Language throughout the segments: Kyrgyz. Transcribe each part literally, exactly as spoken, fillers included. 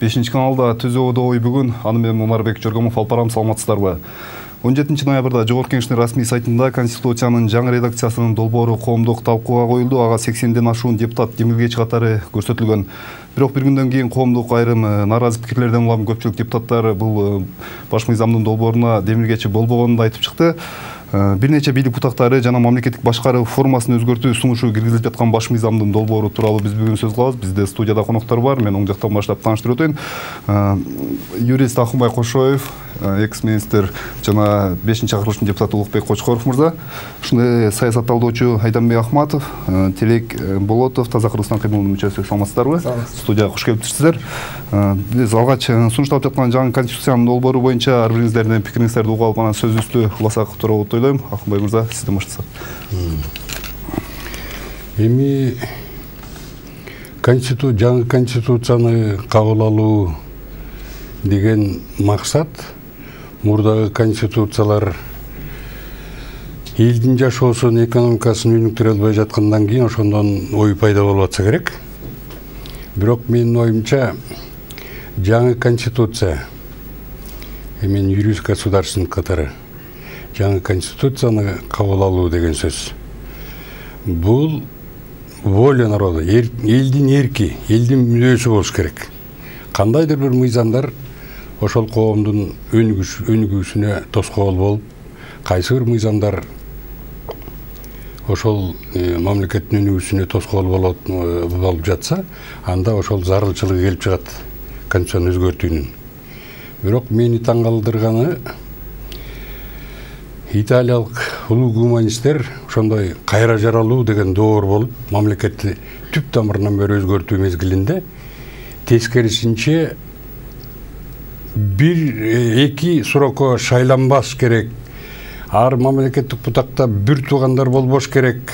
бешинчи каналда түзүүдө ой бүгүн. Аны менен Омарбек Жоргомов алып барам, саламатсыздарбы? он жетинчи ноябрда Жогорку Кеңештин расмий сайтында Конституциянын жаңы редакциясынын долбоору коомдук талкууга коюлду. Ага сексенден ашуун депутат демилгеч катары көрсөтүлгөн. Бирок бир күндөн кийин коомдук айрым нааразы пикирлерден улам көпчүлүк депутаттар бул баш мыйзамдын долбооруна демилгечи болбогонун айтып чыкты. Бир нече бийлик бутактары жана мамлекеттик башкаруу формасын өзгөртүү сунушу киргизилип жаткан баш мыйзамдын долбоору тууралуу биз бүгүн сөз кылабыз. Бизде студияда коноктор бар. Мен оң жактан баштап тааныштырып өтөйүн. Юрист Акынбай Кошоев, экс-министр жана бешинчи чакырылыштын депутаты Улукбек Кочкоров мырза, ушундай саясат талдоочу Айданбек Ахматов, Телек Болотов, Таза Кыргызстан кыймылынын мүчөсү. Саламатсыздарбы? Студияга кош келипсиздер. Биз алгач сунушталып жаткан жаңы конституциянын долбоору боюнча ар бириңиздердин пикириңиздерди угуп алып, анан сөзүбүздү уласак тууралуу деп ойлойм. Акынбай мырза, сизден баштасак. Эми конститу жаңы конституцияны кабыл алуу деген максат мурдагы конституциялар элдин жашоосун, экономикасын өнүктүрө албай жаткандан кийин ошондон ой пайда болуп атса керек. Бирок менин оюмча жаңы конституция, мен юрист государственник катары жаңы конституцияны кабыл алуу деген сөз. Бул воля народа, элдин эрки, элдин мүнөзү болуш керек. Кандайдыр бир мыйзамдар ошол коомдун өнүгүүсүнө тоскоол болуп, кайсы бир мыйзамдар ошол мамлекеттин өнүгүүсүнө тоскоол болуп жатса, анда ошол зарылчылыгы келип чыгат конституцияны өзгөртүүнүн. Бирок мени таң калтырганы, италиялык улуу гуманисттер ошондой кайра жаралуу деген доор болуп, мамлекетти түп тамырынан бери өзгөртүү мезгилинде тескерисинче бир эки срокко шайланбаш керек, ар мамлекеттик бутакта бир туугандар болбош керек,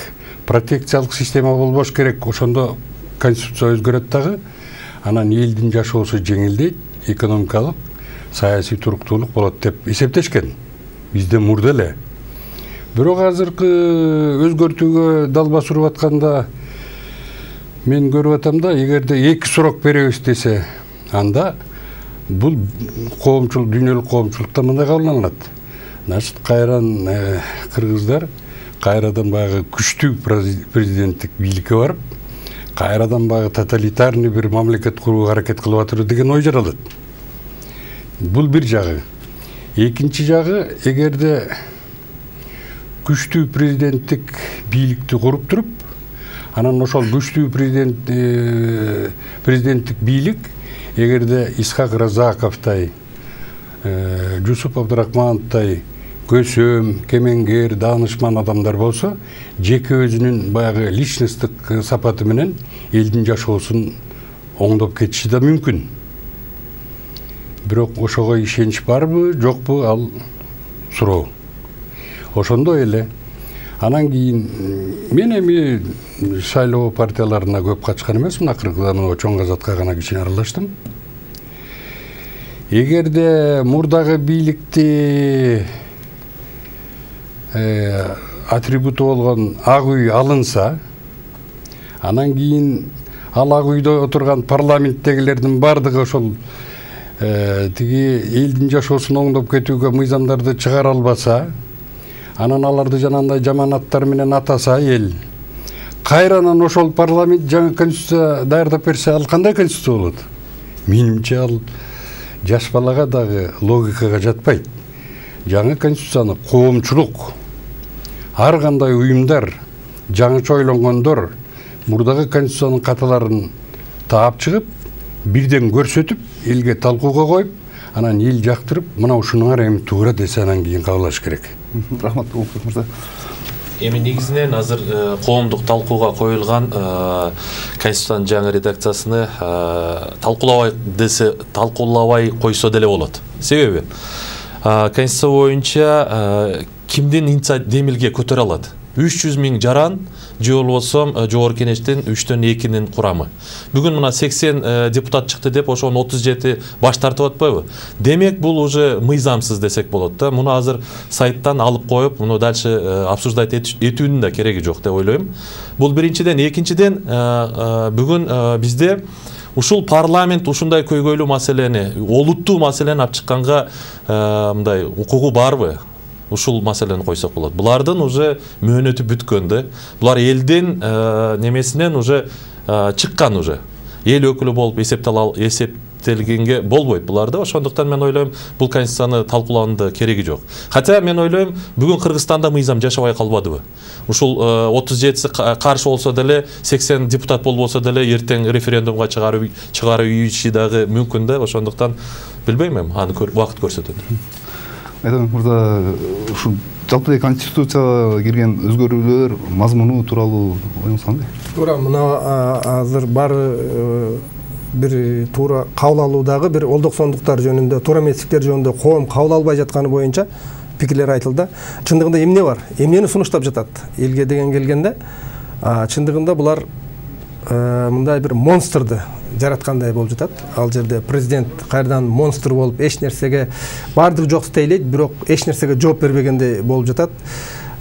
протекциялык система болбош керек, ошондо конституция өзгөрөт дагы, анан элдин жашоосу жеңилдейт, экономикалык, саясий туруктуулук болот деп эсептешкен. Бизде мурда эле. Бирок азыркы өзгөртүүгө дал басырып атканда мен көрүп атам да, эгерде эки срок беребиз десе, анда бул коомчулук, дүйнөлүк коомчулукта мындай кабылданат. Значит, кайрадан кыргыздар кайрадан баягы күчтүү президенттик бийликке барып, кайрадан баягы тоталитарный бир мамлекет курууга аракет кылып атыр деген ой жаралат. Бул бир жагы. Экинчи жагы, эгерде күчтүү президенттик бийликти куруп туруп, анан ошол күчтүү президент президенттик бийлик эгерде Исхак Разаковтай, Жусуп Абдрахмановтай көсөм, кемеңгер, даанышман адамдар болсо, жеке өзүнүн баягы личносттук сапаты менен элдин жашоосун оңдоп кетиши да мүмкүн. Бирок ошого ишенич барбы, жокпу, ал суроо. Ошондой эле. Анан кийин мен эми шайлоо партияларына көп катышкан эмесмин, акыркыда мына чоң казатка гана кичине аралаштым. Эгерде мурдагы бийликти атрибуту болгон ак үй алынса, анан кийин ал ак үйдө отурган парламенттегилердин бардыгы ошол тиги элдин жашоосун оңдоп кетүүгө мыйзамдарды чыгара албаса, анан аларды жанагындай жаманаттар менен атаса эл, кайранан ошол парламент жаңы конституция даярдап берсе, ал кандай конституция болот? Менимче ал жаш балага дагы логикага жатпайт. Жаңы конституцияны коомчулук, ар кандай уюмдар, жаңыча ойлонгондор мурдагы конституциянын каталарын таап чыгып, бирден көрсөтүп, элге талкууга коюп, анан эл жактырып, мына ушунуңар эми туура десе, анан кийин кабылдаш керек. Рахмат, Улукбек мырза. Эми негизинен азыр коомдук талкууга коюлган конституциянын жаңы редакциясыны талкуулабай десе, талкуулабай койсо деле болот. Себеби конституция боюнча кимдин инициатива демилге көтөрө алат? үч жүз миң жаран же болбосо Жогорку Кеңештин үчтөн экинин курамы. Бүгүн мына сексен депутат чыкты деп, ошонун отуз жети баш тартып атпайбы? Демек, бул уже мыйзамсыз десек болот да. Муну азыр сайттан алып коюп, муну дальше обсуждать этүүнүн да кереги жок деп ойлойм. Бул биринчиден, экинчиден бүгүн бизде ушул парламент ушундай көйгөйлүү маселени, олуттуу маселени алып чыкканга мындай укугу барбы? Ушул маселени койсок болот. Булардын уже мөөнөтү бүткөн да. Булар элдин немесинен уже чыккан уже. Эл өкүлү болуп эсептелгенге болбойт буларда. Ошондуктан мен ойлойм, бул конституцияны талкуулаудун кереги жок. Хотя мен ойлойм, бүгүн Кыргызстанда мыйзам жашабай калбадыбы? Ушул отуз жетиси каршы болсо деле, сексен депутат болбосо деле эртең референдумга чыгаруу чыгаруу дагы мүмкүн да. Ошондуктан билбейм, аны убакыт көрсөтөт. Айтам мырза, ушу жалпы конституцияга кирген өзгөрүүлөр мазмуну тууралуу оюңуз кандай? Туура, мына азыр баары бир туура кабыл алуудагы бир олдоксондуктар жөнүндө, туура эместиктер жөнүндө коом кабыл албай жатканы боюнча пикирлер айтылды. Чындыгында эмне бар? Эмнени сунуштап жатат? Элге деген келгенде, чындыгында булар мындай бир монстрду жараткандай болуп жатат. Ал жерде президент кайрадан монстр болуп, эч нерсеге бардыгы жок істейлейт, бирок эч нерсеге жооп бербегендей болуп жатат.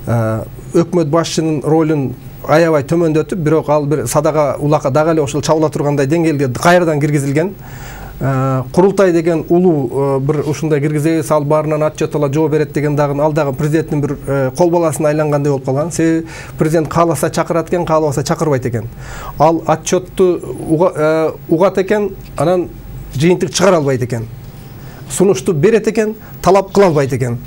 Өкмөт башчынын ролун аябай төмөндөтүп, бирок ал бир садага улакка дагы эле ошол чабыла тургандай деңгээлге кайрадан киргизилген. Курултай деген улуу бир ушундай киргизебиз, ал баарынан отчет ала жооп берет деген дагы ал дагы президенттин бир кол баласына айлангандай болуп калган. Себеби президент кааласа чакырат экен, каалабаса чакырбайт экен. Ал отчетту угат экен, анан жыйынтык чыгара албайт экен. Сунушту берет экен, талап кыла албайт экен.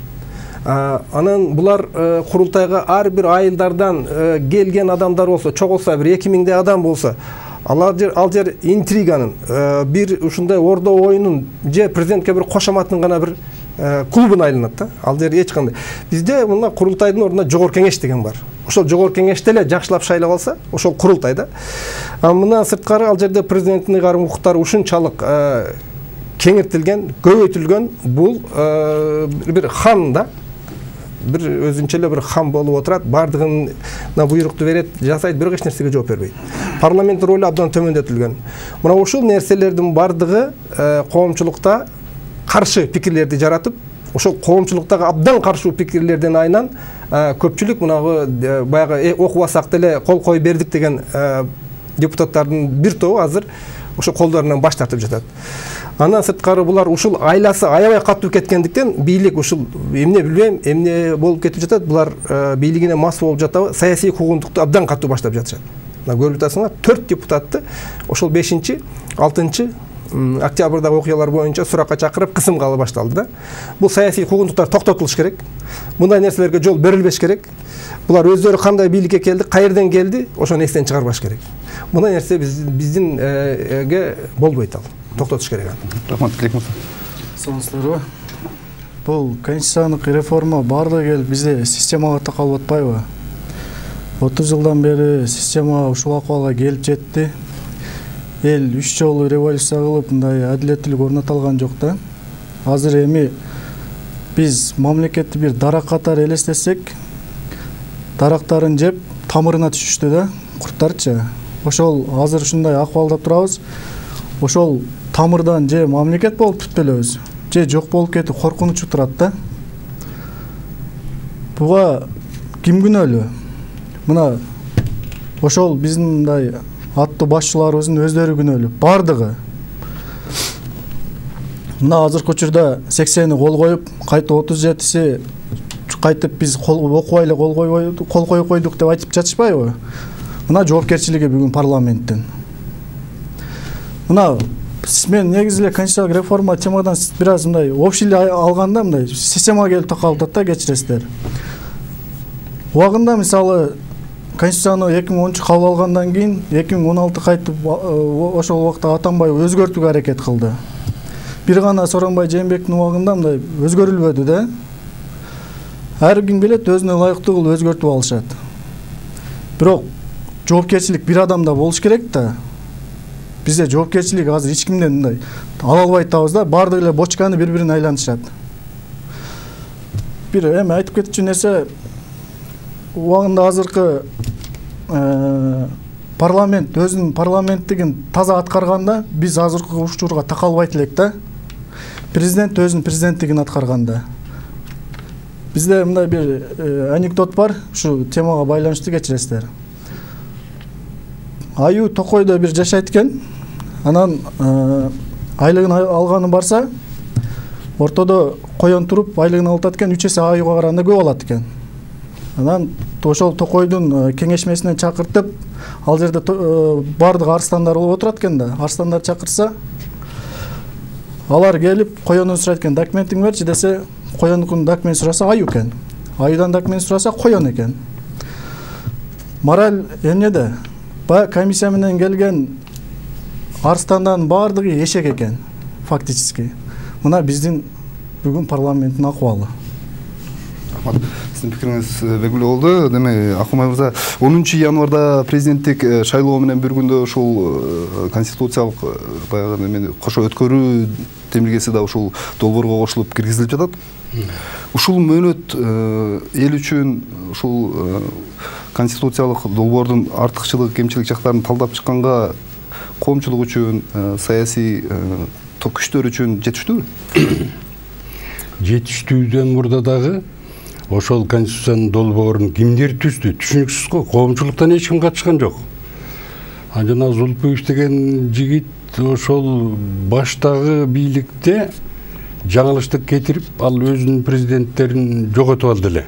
Анан булар курултайга ар бир айылдардан келген адамдар болсо, чогулса бир эки миңдей адам болсо, Алар жер, ал жер интриганын, бир ушундай ордо оюнун же президентке бир кошоматтын гана бир клубун айланат да. Ал жер эч кандай. Бизде мына курултайдын ордуна жогорку кеңеш деген бар. Ошол жогорку кеңеште эле жакшылап шайлап алса, ошол курултай да. Мына сырткары ал жерде президенттин ыйгарым укуктары ушунчалык кеңиртилген, көбөйтүлгөн, бул бир хан да. Бир өзүнчө эле бир хан болуп отурат, бардыгына буйрукту берет, жасайт, бирок эч нерсеге жооп бербейт. Парламенттин ролу абдан төмөндөтүлгөн. Мына ушул нерселердин бардыгы коомчулукта каршы пикирлерди жаратып, ошол коомчулуктагы абдан каршы пикирлерден айынан көпчүлүк мынагы баягы окубасак деле кол коюп бердик деген депутаттардын бир тобу азыр ошо колдорунан баш тартып жатат. Андан сырткары булар ушул айласы аябай катуу кеткендиктен бийлик ушул эмне билбейм, эмне болуп кетип жатат, булар бийлигине мас болуп жатабы, саясий куугунтукту абдан катуу баштап жатышат. Мына көрүп атасыңар, төрт депутатты ошол бешинчи, алтынчы октябрдагы окуялар боюнча суракка чакырып кысымга ала башталды да. Бул саясий куугунтуктар токтотулуш керек. Мындай нерселерге жол берилбеш керек. Булар өздөрү кандай бийликке келди, кайерден келди, ошону эстен чыгарбаш керек. Мындай нерсе биздинге болбойт ал. Токтотуш керек. Рахмат, Тилекмурза. Саламатсыздарбы? Бул конституциялык реформа баардыгы келип бизде системага такалып атпайбы? отуз жылдан бери система ушул акыбалга келип жетти. Эл үч жолу революция кылып, мындай адилеттүүлүк орното алган жок да. Азыр эми биз мамлекетти бир дарак катары элестетсек, дарактарын жеп тамырына түшүштү да, курттарчы. Ошол азыр ушундай акыбалда турабыз. Ошол тамырдан же мамлекет болуп бүтпөлөбүз, же жок болуп кетип коркунучу турат да. Буга ким күнөөлүү? Мына ошол биздин мындай аттуу башчыларыбыздын өздөрү күнөөлүү, бардыгы. Мына азыркы учурда сексени кол коюп, кайта отуз жетиси кайтып биз окубай эле кол койбойдук, кол коюп койдук деп айтып жатышпайбы? Мына жоопкерчилиги бүгүн парламенттин. Мына мен негизи эле конституциялык реформа темадан бир аз мындай общий алганда мындай системага келип такалып атат да, кечиресиздер. Убагында мисалы конституцияны эки миң онунчу кабыл алгандан кийин эки миң он алты кайтып ошол убакта Атамбаев өзгөртүүгө аракет кылды. Бир гана Сооронбай Жээнбектин убагында мындай өзгөрүлбөдү да. Ар ким билет, өзүнө ылайыктуу кылып өзгөртүп алышат. Бирок жоопкерчилик бир адамда болуш керек да. Бизде жоопкерчилик азыр эч кимден мындай ала албай атабыз да, бардыгы эле бочканы бири-бирине айланышат. Бир эми айтып кетчү нерсе, убагында азыркы парламент өзүнүн парламенттигин таза аткарганда, биз азыркы учурга такалбайт элек да. Президент өзүнүн президенттигин аткарганда. Бизде мындай бир анекдот бар, ушу темага байланыштуу, кечиресиздер. Аю Токойдо бир жашайт экен. анан айлыгын алганы барса ортодо коен туруп айлыгын алып атат экен, үч эсе аюуга караганда көп алат экен. Анан ошол токойдун кеңешмесине чакыртып, ал жерде баардык арстандар болуп отурат экен да. Арстандар чакырса, алар келип коенун сурайт экен, документиң берчи десе, коендун документ сураса аюу экен. Аюудан документ сураса коен экен. Мораль эмнеде? Баягы комиссия менен келген арстандардын баардыгы эшек экен, фактически. Мына биздин бүгүн парламенттин акыбалы. Сиздин пикириңиз белгилүү болду. Деме, Акмай мырза, онунчу январда президенттик шайлоо менен бир күндө ушул конституциялык баягы неме кошо өткөрүү темилгеси да ушул долбоорго кошулуп киргизилип жатат. Ушул мөөнөт эл үчүн ушул конституциялык долбоордун артыкчылык, кемчилик жактарын талдап чыкканга коомчулук үчүн, саясий күчтөр үчүн жетиштүүбү? Жетиштүүдөн мурда дагы ошол конституциянын долбоорун кимдер түздү? Түшүнүксүз го, коомчулуктан эч ким катышкан жок. А жана Зулпуев деген жигит ошол баштагы бийликте жаңылыштык кетирип, ал өзүнүн президенттерин жоготуп алды эле.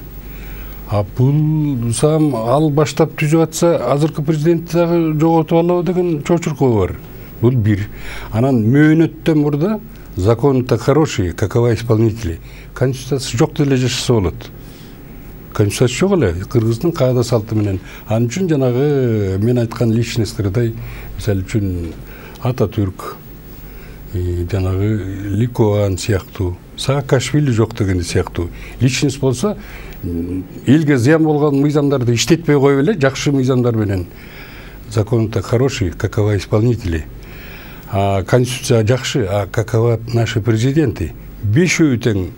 А бул сам ал баштап түзүп атса, азыркы президентти дагы жоготуп алабы деген чочуркоо бар. Бул бир. Анан мөөнөттөн мурда законы-то хорошие, какова исполнители. Конституциясы жок деле жашаса болот. Конституциясы жок эле, кыргыздын каада салты менен. Ал үчүн жанагы мен айткан личностьтардай, мисалы үчүн Ататүрк, жанагы Ликован сыяктуу, Саакашвили жок деген сыяктуу. Личность болсо, элге зыян болгон мыйзамдарды иштетпей коюп эле, жакшы мыйзамдар менен. Законы-то хорошие, какова исполнители. А конституция жакшы, а какова наши президенты? Бешөө тең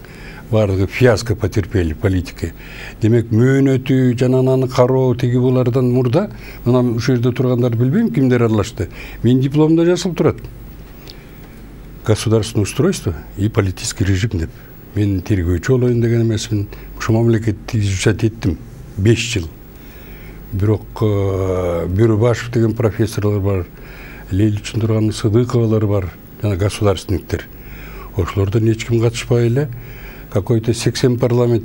бардыгы фиаско потерпели политики. Демек, мөөнөтү, жана ананы кароо тиги булардан мурда, мына ушул жерде тургандар билбейм кимдер аралашты. Мен дипломда жазылып турат. Государственное устройство и политический режим деп. Мен тергөөчү болоюн деген эмесмин. Ушул мамлекетти изучать эттим беш жыл. Бирок Бөрөбашев деген профессорлор бар, Лейль үчүн турган Сыдыковалар бар, жана государственниктер. Ошолордон эч ким катышпай эле какой-то сексен парламент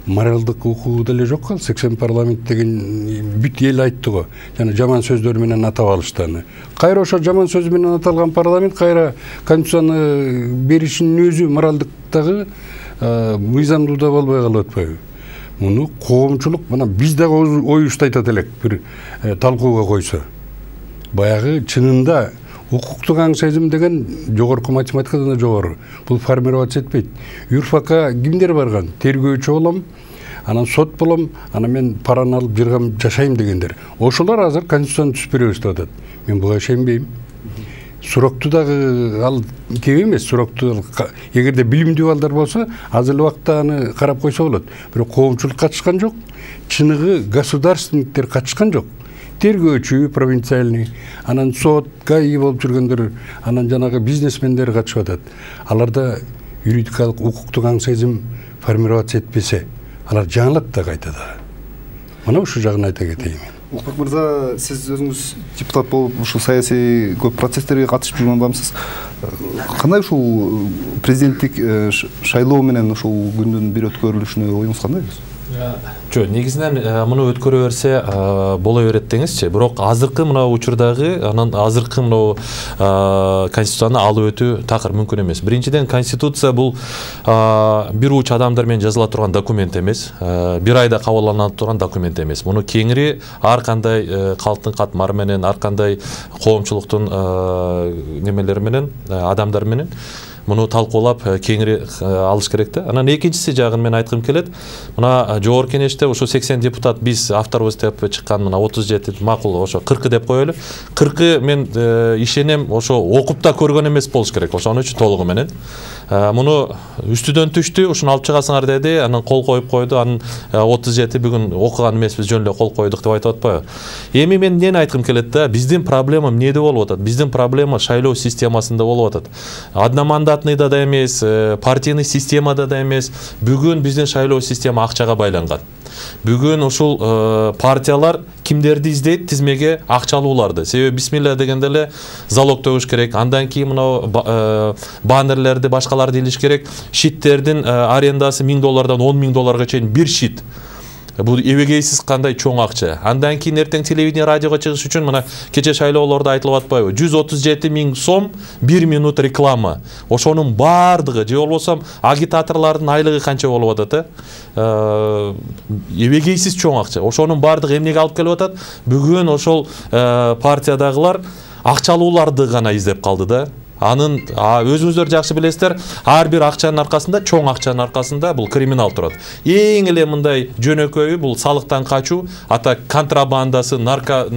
моралдык укугу деле жок кал. сексен парламент деген бүт эл айтты го. Жана жаман сөздөр менен атап алышты аны. Кайра ошо жаман сөз менен аталган парламент кайра конституцияны беришинин өзү моралдыктагы мыйзамдуу болбой калып атпайбы? Муну коомчулук, мына биз дагы оюбузду айтат элек, бир талкууга койсо. Баягы чынында укуктук аң сезим деген жогорку математикадан да жогору. Бул формироваться этпейт. Юрфакка кимдер барган? Тергөөчү болом, анан сот болом, анан мен параны алып жыргам жашайм дегендер. Ошолор азыр конституцияны түзүп беребиз деп атат. Мен буга ишенбейм. Сурокту дагы ал кеп эмес, сурокту эгерде билимдүү балдар болсо, азыр убакта аны карап койсо болот. Бирок коомчулук катышкан жок, чыныгы государственниктер катышкан жок. Тергөөчү, провинциальный, анан сот, ГАИ болуп жүргөндөр, анан жанагы бизнесмендер катышып атат. Аларда юридикалык укуктук аң сезим формироваться этпесе, алар жаңылат да кайта да. Мына ушул жагын айта кетейин. Улукбек мырза, сиз өзүңүз депутат болуп, ушул саясий көп процесстерге катышып жүргөн адамсыз. Кандай ушул президенттик шайлоо менен ушул күндүн бир өткөрүлүшүнө оюңуз кандай? Жо, негизинен муну өткөрө берсе боло берет деңизчи. Бирок азыркы мына учурдагы, анан азыркы мына конституцияны алып өтүү такыр мүмкүн эмес. Биринчиден, конституция бул бир уч адамдар менен жазыла турган документ эмес, бир айда кабылдана турган документ эмес. Муну кеңири ар кандай калктын катмары менен, ар кандай коомчулуктун немелери менен, адамдар менен муну талкуулап кеңири алыш керек да. Анан экинчиси жагын мен айткым келет. Мына жогорку кеңеште ошо сексен депутат биз авторбуз деп чыккан, мына отуз жети макул, ошо кыркы деп коелу. кыркы мен ишенем ошо окуп да көргөн эмес болуш керек. Ошон үчүн толугу менен муну үстүдөн түштү, ушуну алып чыгасыңар деди, анан кол коюп койду. Анан отуз жети бүгүн окуган эмеспиз, жөн эле кол койдук деп айтып атпайбы? Эми мен эмнени айткым келет да, биздин проблема эмнеде болуп атат? Биздин проблема шайлоо системасында болуп атат. Одномандатныйда да эмес, партийный системада да эмес. Бүгүн биздин шайлоо система акчага байланган. Бүгүн ушул партиялар кимдерди издейт? Тизмеге акчалууларды. Себеби бисмилла дегенде эле залог төгүш керек. Андан кийин мына баннерлерди, башкаларды илиш керек. Шиттердин арендасы миң доллардан он миң долларга чейин бир шит. Бул эбегейсиз кандай чоң акча. Андан кийин эртең телевидение, радиого чыгыш үчүн мына кече шайлоолордо айтылып атпайбы? жүз отуз жети миң сом бир минут реклама. Ошонун баардыгы, же болбосо агитаторлордун айлыгы канча болуп атат, э? Эбегейсиз чоң акча. Ошонун баардыгы эмнеге алып келип атат? Бүгүн ошол партиядагылар акчалууларды гана издеп калды да. Анын өзүңүздөр жакшы билесиздер, ар бир акчанын аркасында, чоң акчанын аркасында бул криминал турат. Эң эле мындай жөнөкөйү бул салыктан качуу, ата контрабандасы, нарко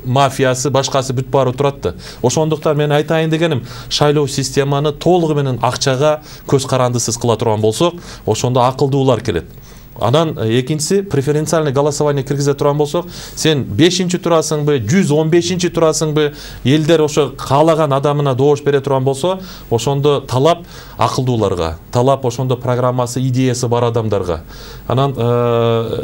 мафиясы, башкасы бүт баары турат да. Ошондуктан мен айтайын дегеним, шайлоо системаны толугу менен акчага көз карандысыз кыла турган болсок, ошондо акылдуулар келет. Анан экинчиси преференциальный голосование киргизе турган болсок, сен бешинчи турасыңбы, жүз он бешинчи турасыңбы, элдер ошо каалаган адамына добуш бере турган болсо, ошондо талап акылдууларга, талап ошондо программасы, идеясы бар адамдарга. Анан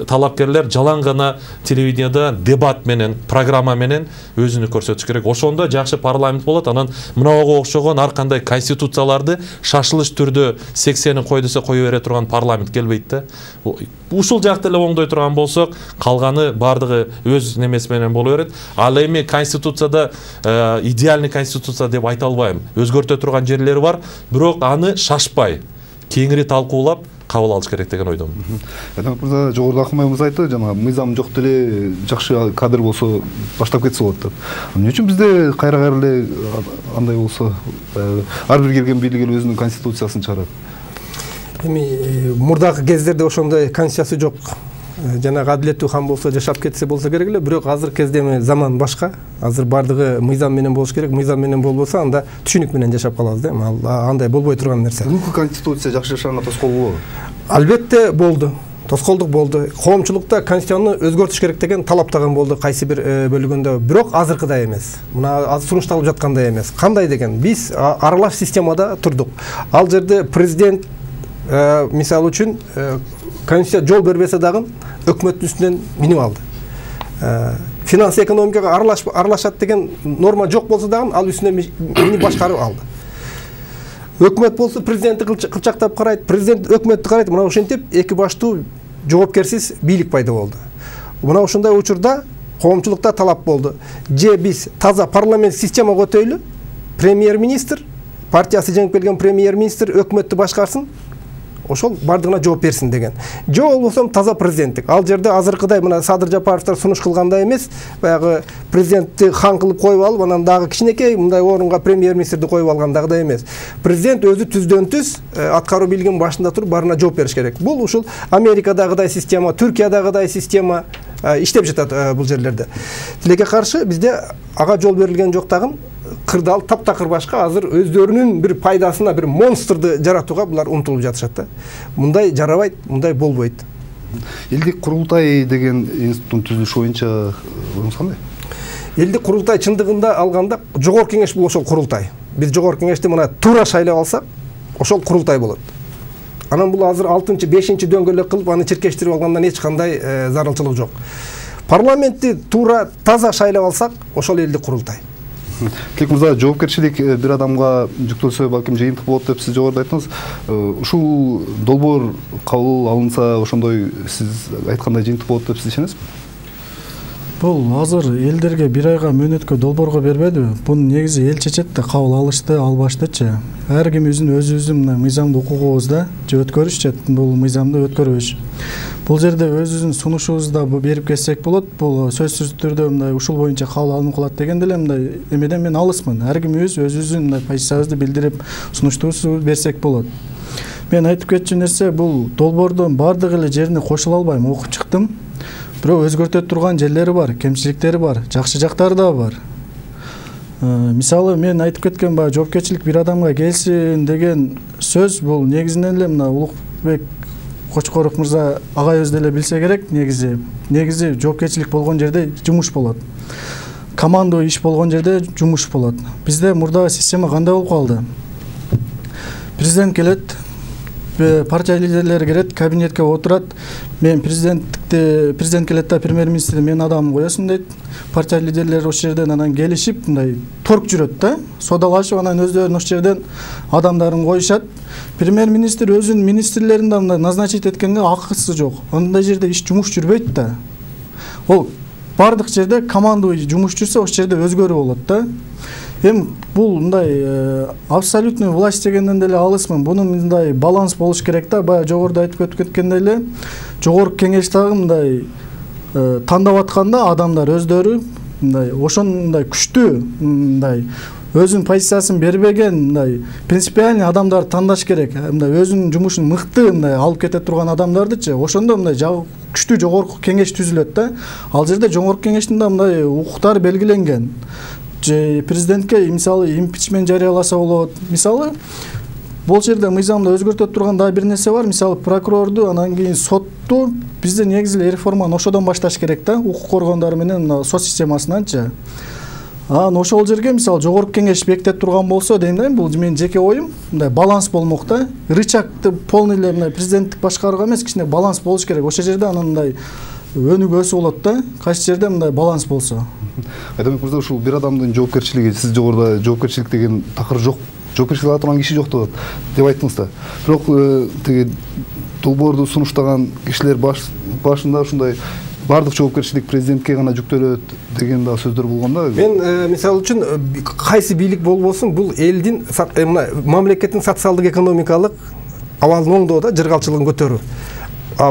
талапкерлер жалаң гана телевидениеда дебат менен, программа менен өзүнү көрсөтүш керек. Ошондо жакшы парламент болот. Анан мынауга окшогон ар кандай конституцияларды шашылыш түрдө сексенин кой десе кое бере турган парламент келбейт да. Ушул жакты эле оңдой турган болсок, калганы бардыгы өз немеси менен боло берет. Ал эми конституцияда идеальный конституция деп айта албайм. Өзгөртө турган жерлери бар, бирок аны шашпай, кеңири талкуулап кабыл алыш керек деген ойдомун. Эдемек мырза, жогоруда Акмай мырза айтты, жана мыйзам жок деле жакшы кадр болсо баштап кетсе болот деп. Эмне үчүн бизде кайра-кайра эле андай болсо, ар бир келген бийлик эл өзүнүн конституциясын чыгарат? Эми мурдагы кездерде ошондой конституция жок. Жанагы адилеттүү хан болсо жашап кетсе болсо керек эле, бирок азыркы кезде эми заман башка. Азыр бардыгы мыйзам менен болуш керек. Мыйзам менен болбосо анда түшүнүк менен жашап калабыз да. Эми андай болбой турган нерсе. Бүгүнкү конституция жакшы жашаганга тоскоол болобу? Албетте болду. Тоскоолдук болду. Коомчулукта конституцияны өзгөртүш керек деген талаптаган болду кайсы бир бөлүгүндө. Бирок азыркыдай эмес. Мына азыр сунушталып жаткандай эмес. Кандай деген? Биз аралаш системада турдук. Ал жерде президент мисалы үчүн конституция жол бербесе дагы өкмөттүн үстүнөн минип алды. Финанс экономикага аралашат деген норма жок болсо дагы ал үстүнөн минип башкарып алды. Өкмөт болсо президентти кылчактап карайт, президент өкмөттү карайт. Мына ошентип эки баштуу жоопкерсиз бийлик пайда болду. Мына ошондой учурда коомчулукта талап болду. Же биз таза парламент системага өтөйлү, премьер-министр, партиясы жеңип келген премьер-министр өкмөттү башкарсын, ошол бардыгына жооп берсин деген. Жок болбосо таза президенттик. Ал жерде азыркыдай мына Садыр Жапаровдор сунуш кылгандай эмес, баягы президентти хан кылып коюп алып, анан дагы кичинекей мындай орунга премьер-министрди коюп алгандагыдай эмес. Президент өзү түздөн түз аткаруу бийлигинин башында туруп барына жооп бериш керек. Бул ушул Америкадагыдай система, Түркиядагыдай система иштеп жатат бул жерлерде. Тилекке каршы бизде ага жол берилген жок дагы. Кырдал таптакыр башка азыр өздөрүнүн бир пайдасына бир монстрду жаратууга булар умтулуп жатышат да. Мындай жарабайт, мындай болбойт. Элдик курултай деген институттун түзүлүшү боюнча оюңуз кандай? Элдик курултай чындыгында алганда жогорку кеңеш бул ошол курултай. Биз жогорку кеңешти мына туура шайлап алсак, ошол курултай болот. Анан бул азыр алтынчы, бешинчи дөңгөлөк кылып аны чиркештирип алгандан эч кандай зарылчылык жок. Парламентти туура таза шайлап алсак, ошол элдик курултай. Тилек мырза, жоопкерчилик бир адамга жүктөлсө балким жыйынтык болот деп сиз жогоруда айттыңыз. Ушул долбоор кабыл алынса, ошондой сиз айткандай жыйынтык болот деп сиз ишенесизби? Бул азыр элдерге бир айга мөөнөткө долбоорго бербедиби? Буну негизи эл чечет да, кабыл алышты, албаштычы. Ар ким өзүнүн өзүбүздүн мына мыйзамдуу укугубузда же өткөрүшчү бул мыйзамды өткөрүш. Бул жерде өзүбүздүн сунушубузду берип кетсек болот. Бул сөзсүз түрдө мындай ушул боюнча кабыл алынып калат дегенде эле мындай эмеден мен алысмын. Ар ким өз өзүбүздүн мындай позициябызды билдирип, сунуштуубузду берсек болот. Мен айтып кетчү нерсе бул долбоордун бардык эле жерине кошула албайм, окуп чыктым. Бирок өзгөртө турган жерлери бар, кемчиликтери бар, жакшы жактары да бар. Мисалы мен айтып кеткен баягы жоопкерчилик бир адамга келсин деген сөз бул негизинен эле мына Улукбек Кочкоров мырза агайыбыз деле билсе керек, негизи негизи жоопкерчилик болгон жерде жумуш болот. Командуу иш болгон жерде жумуш болот. Бизде мурдагы система кандай болуп калды? Президент келет, партия лидерлери кирет, кабинетке отурат. Мен президенттикти президент келет да премьер-министр мен адамым коесун дейт. Партия лидерлери ошол жерден анан келишип, мындай торг жүрөт да. Содалашып анан өздөрүнүн ошол жерден адамдарын коюшат. Премьер-министр өзүнүн министрлерин да мындай назначить эткенге акысы жок. Андай жерде иш жумуш жүрбөйт да. Ол бардык жерде командующий жумуш жүрсө ошол жерде өзгөрүү болот да. Эми бул мындай абсолютный власть дегенден деле алысмын. Бунун мындай баланс болуш керек да. Баягы жогоруда айтып өтүп кеткендей эле жогорку кеңеш дагы мындай тандап атканда адамдар өздөрү мындай ошондой күчтүү мындай өзүнүн позициясын бербеген мындай принципиальный адамдарды тандаш керек. Мындай өзүнүн жумушун мыкты мындай алып кете турган адамдардычы ошондо мындай күчтүү жогорку кеңеш түзүлөт да. Ал жерде жогорку кеңештин да мындай укуктары белгиленген. Президентке мисалы импичмент жарыяласа болот. Мисалы бул жерде мыйзамды өзгөртө турган дагы бир нерсе бар. Мисалы прокурорду анан кийин сотту бизде негизи реформаны ошодон башташ керек да. Укук коргондору менен сот системасынанчы. Анан ошол жерге мисалы жогорку кеңеш бекитип турган болсо дейм да, бул менин жеке оюм, мындай баланс болмок да. Рычагды полный эле мындай президенттик башкарууга эмес, кичине баланс болуш керек. Ошол жерде анан мындай өнүгүү өсүп болот да. Кайсы жерде мындай баланс болсо. Айдамбек мырза, ушул бир адамдын жоопкерчилиги, сиз жогоруда жоопкерчилик деген такыр жок, жоопкерчилик ала турган киши жок деп айттыңыз да. Бирок тиги долбоорду сунуштаган кишилер башында ушундай бардык жоопкерчилик президентке гана жүктөлөт деген да сөздөр болгон да. Мен мисалы үчүн кайсы бийлик болбосун, бул элдин мына мамлекеттин социалдык экономикалык абалын оңдоо да, жыргалчылыгын көтөрүү.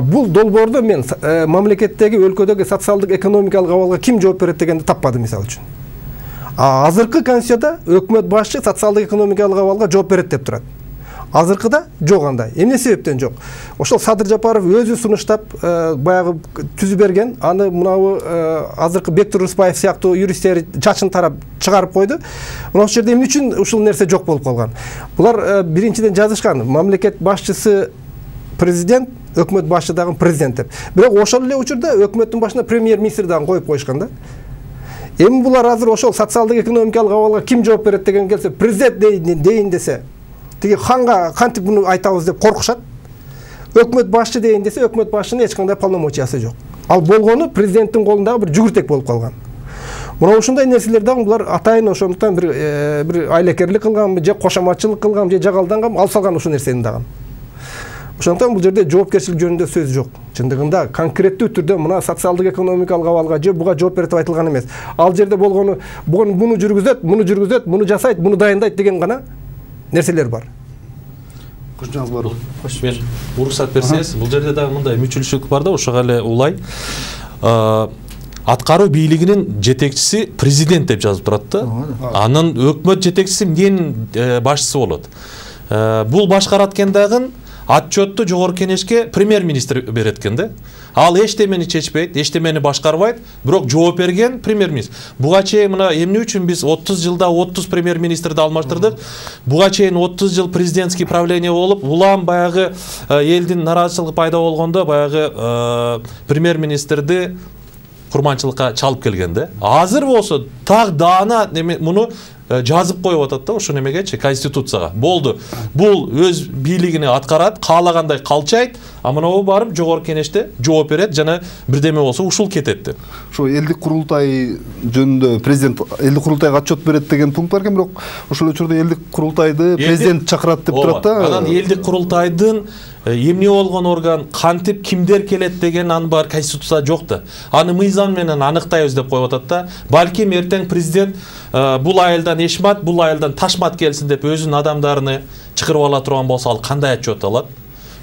Бул долбоордо мен мамлекеттеги өлкөдөгү социалдык экономикалык абалга ким жооп берет дегенди таппадым мисалы үчүн. Азыркы конституцияда өкмөт башчы социалдык экономикалык абалга жооп берет деп турат. Азыркыда жок андай. Эмне себептен жок? Ошол Садыр Жапаров өзү сунуштап баягы түзүп берген, аны мынабы азыркы Бектур Рыспаев сыяктуу юристтер чачын тарап чыгарып койду. Мына ошол жерде эмне үчүн ушул нерсе жок болуп калган? Булар биринчиден жазышкан, мамлекет башчысы президент, өкмөт башчы дагы президент деп. Бирок ошол эле учурда өкмөттүн башына премьер-министр дагы коюп коюшкан да. Эми булар азыр ошол социалдык экономикалык абалга ким жооп берет деген келсе, президент дейин десе, тиги ханга кантип буну айтабыз деп коркушат. Өкмөт башчы дейин десе, өкмөт башчынын эч кандай полномочиясы жок. Ал болгону президенттин колундагы бир жүгүртек болуп калган. Мына ушундай нерселер дагы булар атайын ошондуктан бир бир айлакерлик кылганбы, же кошоматчылык кылганбы, же жагалданганбы, алып салган ушул нерсени дагы. Ошондуктан бул жерде жоопкерчилик жөнүндө сөз жок. Чындыгында конкреттүү түрдө мына социалдык экономикалык абалга же буга жооп берет деп айтылган эмес. Ал жерде болгону буну жүргүзөт, муну жүргүзөт, муну жасайт, муну дайындайт деген гана нерселер бар. Кошчуңуз бар. Мен уруксат берсеңиз, бул жерде дагы мындай мүчүлчүлүк бар да, ошого эле улай. Аткаруу бийлигинин жетекчиси президент деп жазып турат да. Анын өкмөт жетекчиси эмненин башчысы болот? Бул башкарат экен дагы отчетту жогорку кеңешке премьер-министр берет экен да. Ал эчтемени чечпейт, эчтемени башкарбайт, бирок жооп берген премьер-министр. Буга чейин мына эмне үчүн биз отуз жылда отуз премьер-министрди алмаштырдык? Буга чейин отуз жыл президентский правление болуп, улам баягы элдин нараазычылыгы пайда болгондо баягы премьер-министрди курманчылыкка чалып келген да. Азыр болсо так даана муну жазып коюп атат да, ошо немегечи, конституцияга. Болду. Бул өз бийлигини аткарат, каалагандай калчайт, а мынабу барып жогорку кеңеште жооп берет жана бирдеме болсо ушул кетет деп. Ошо элдик курултай жөнүндө президент элдик курултайга отчет берет деген пункт бар экен, бирок ошол учурда элдик курултайды президент чакырат деп турат да. Анан элдик курултайдын эмне болгон орган, кантип кимдер келет деген аны бар конституцияда жок да. Аны мыйзам менен аныктайбыз деп коюп атат да. Балким эртең президент бул айылдан Эшмат, бул айылдан Ташмат келсин деп өзүнүн адамдарын чакырып ала турган болсо, ал кандай отчет алат?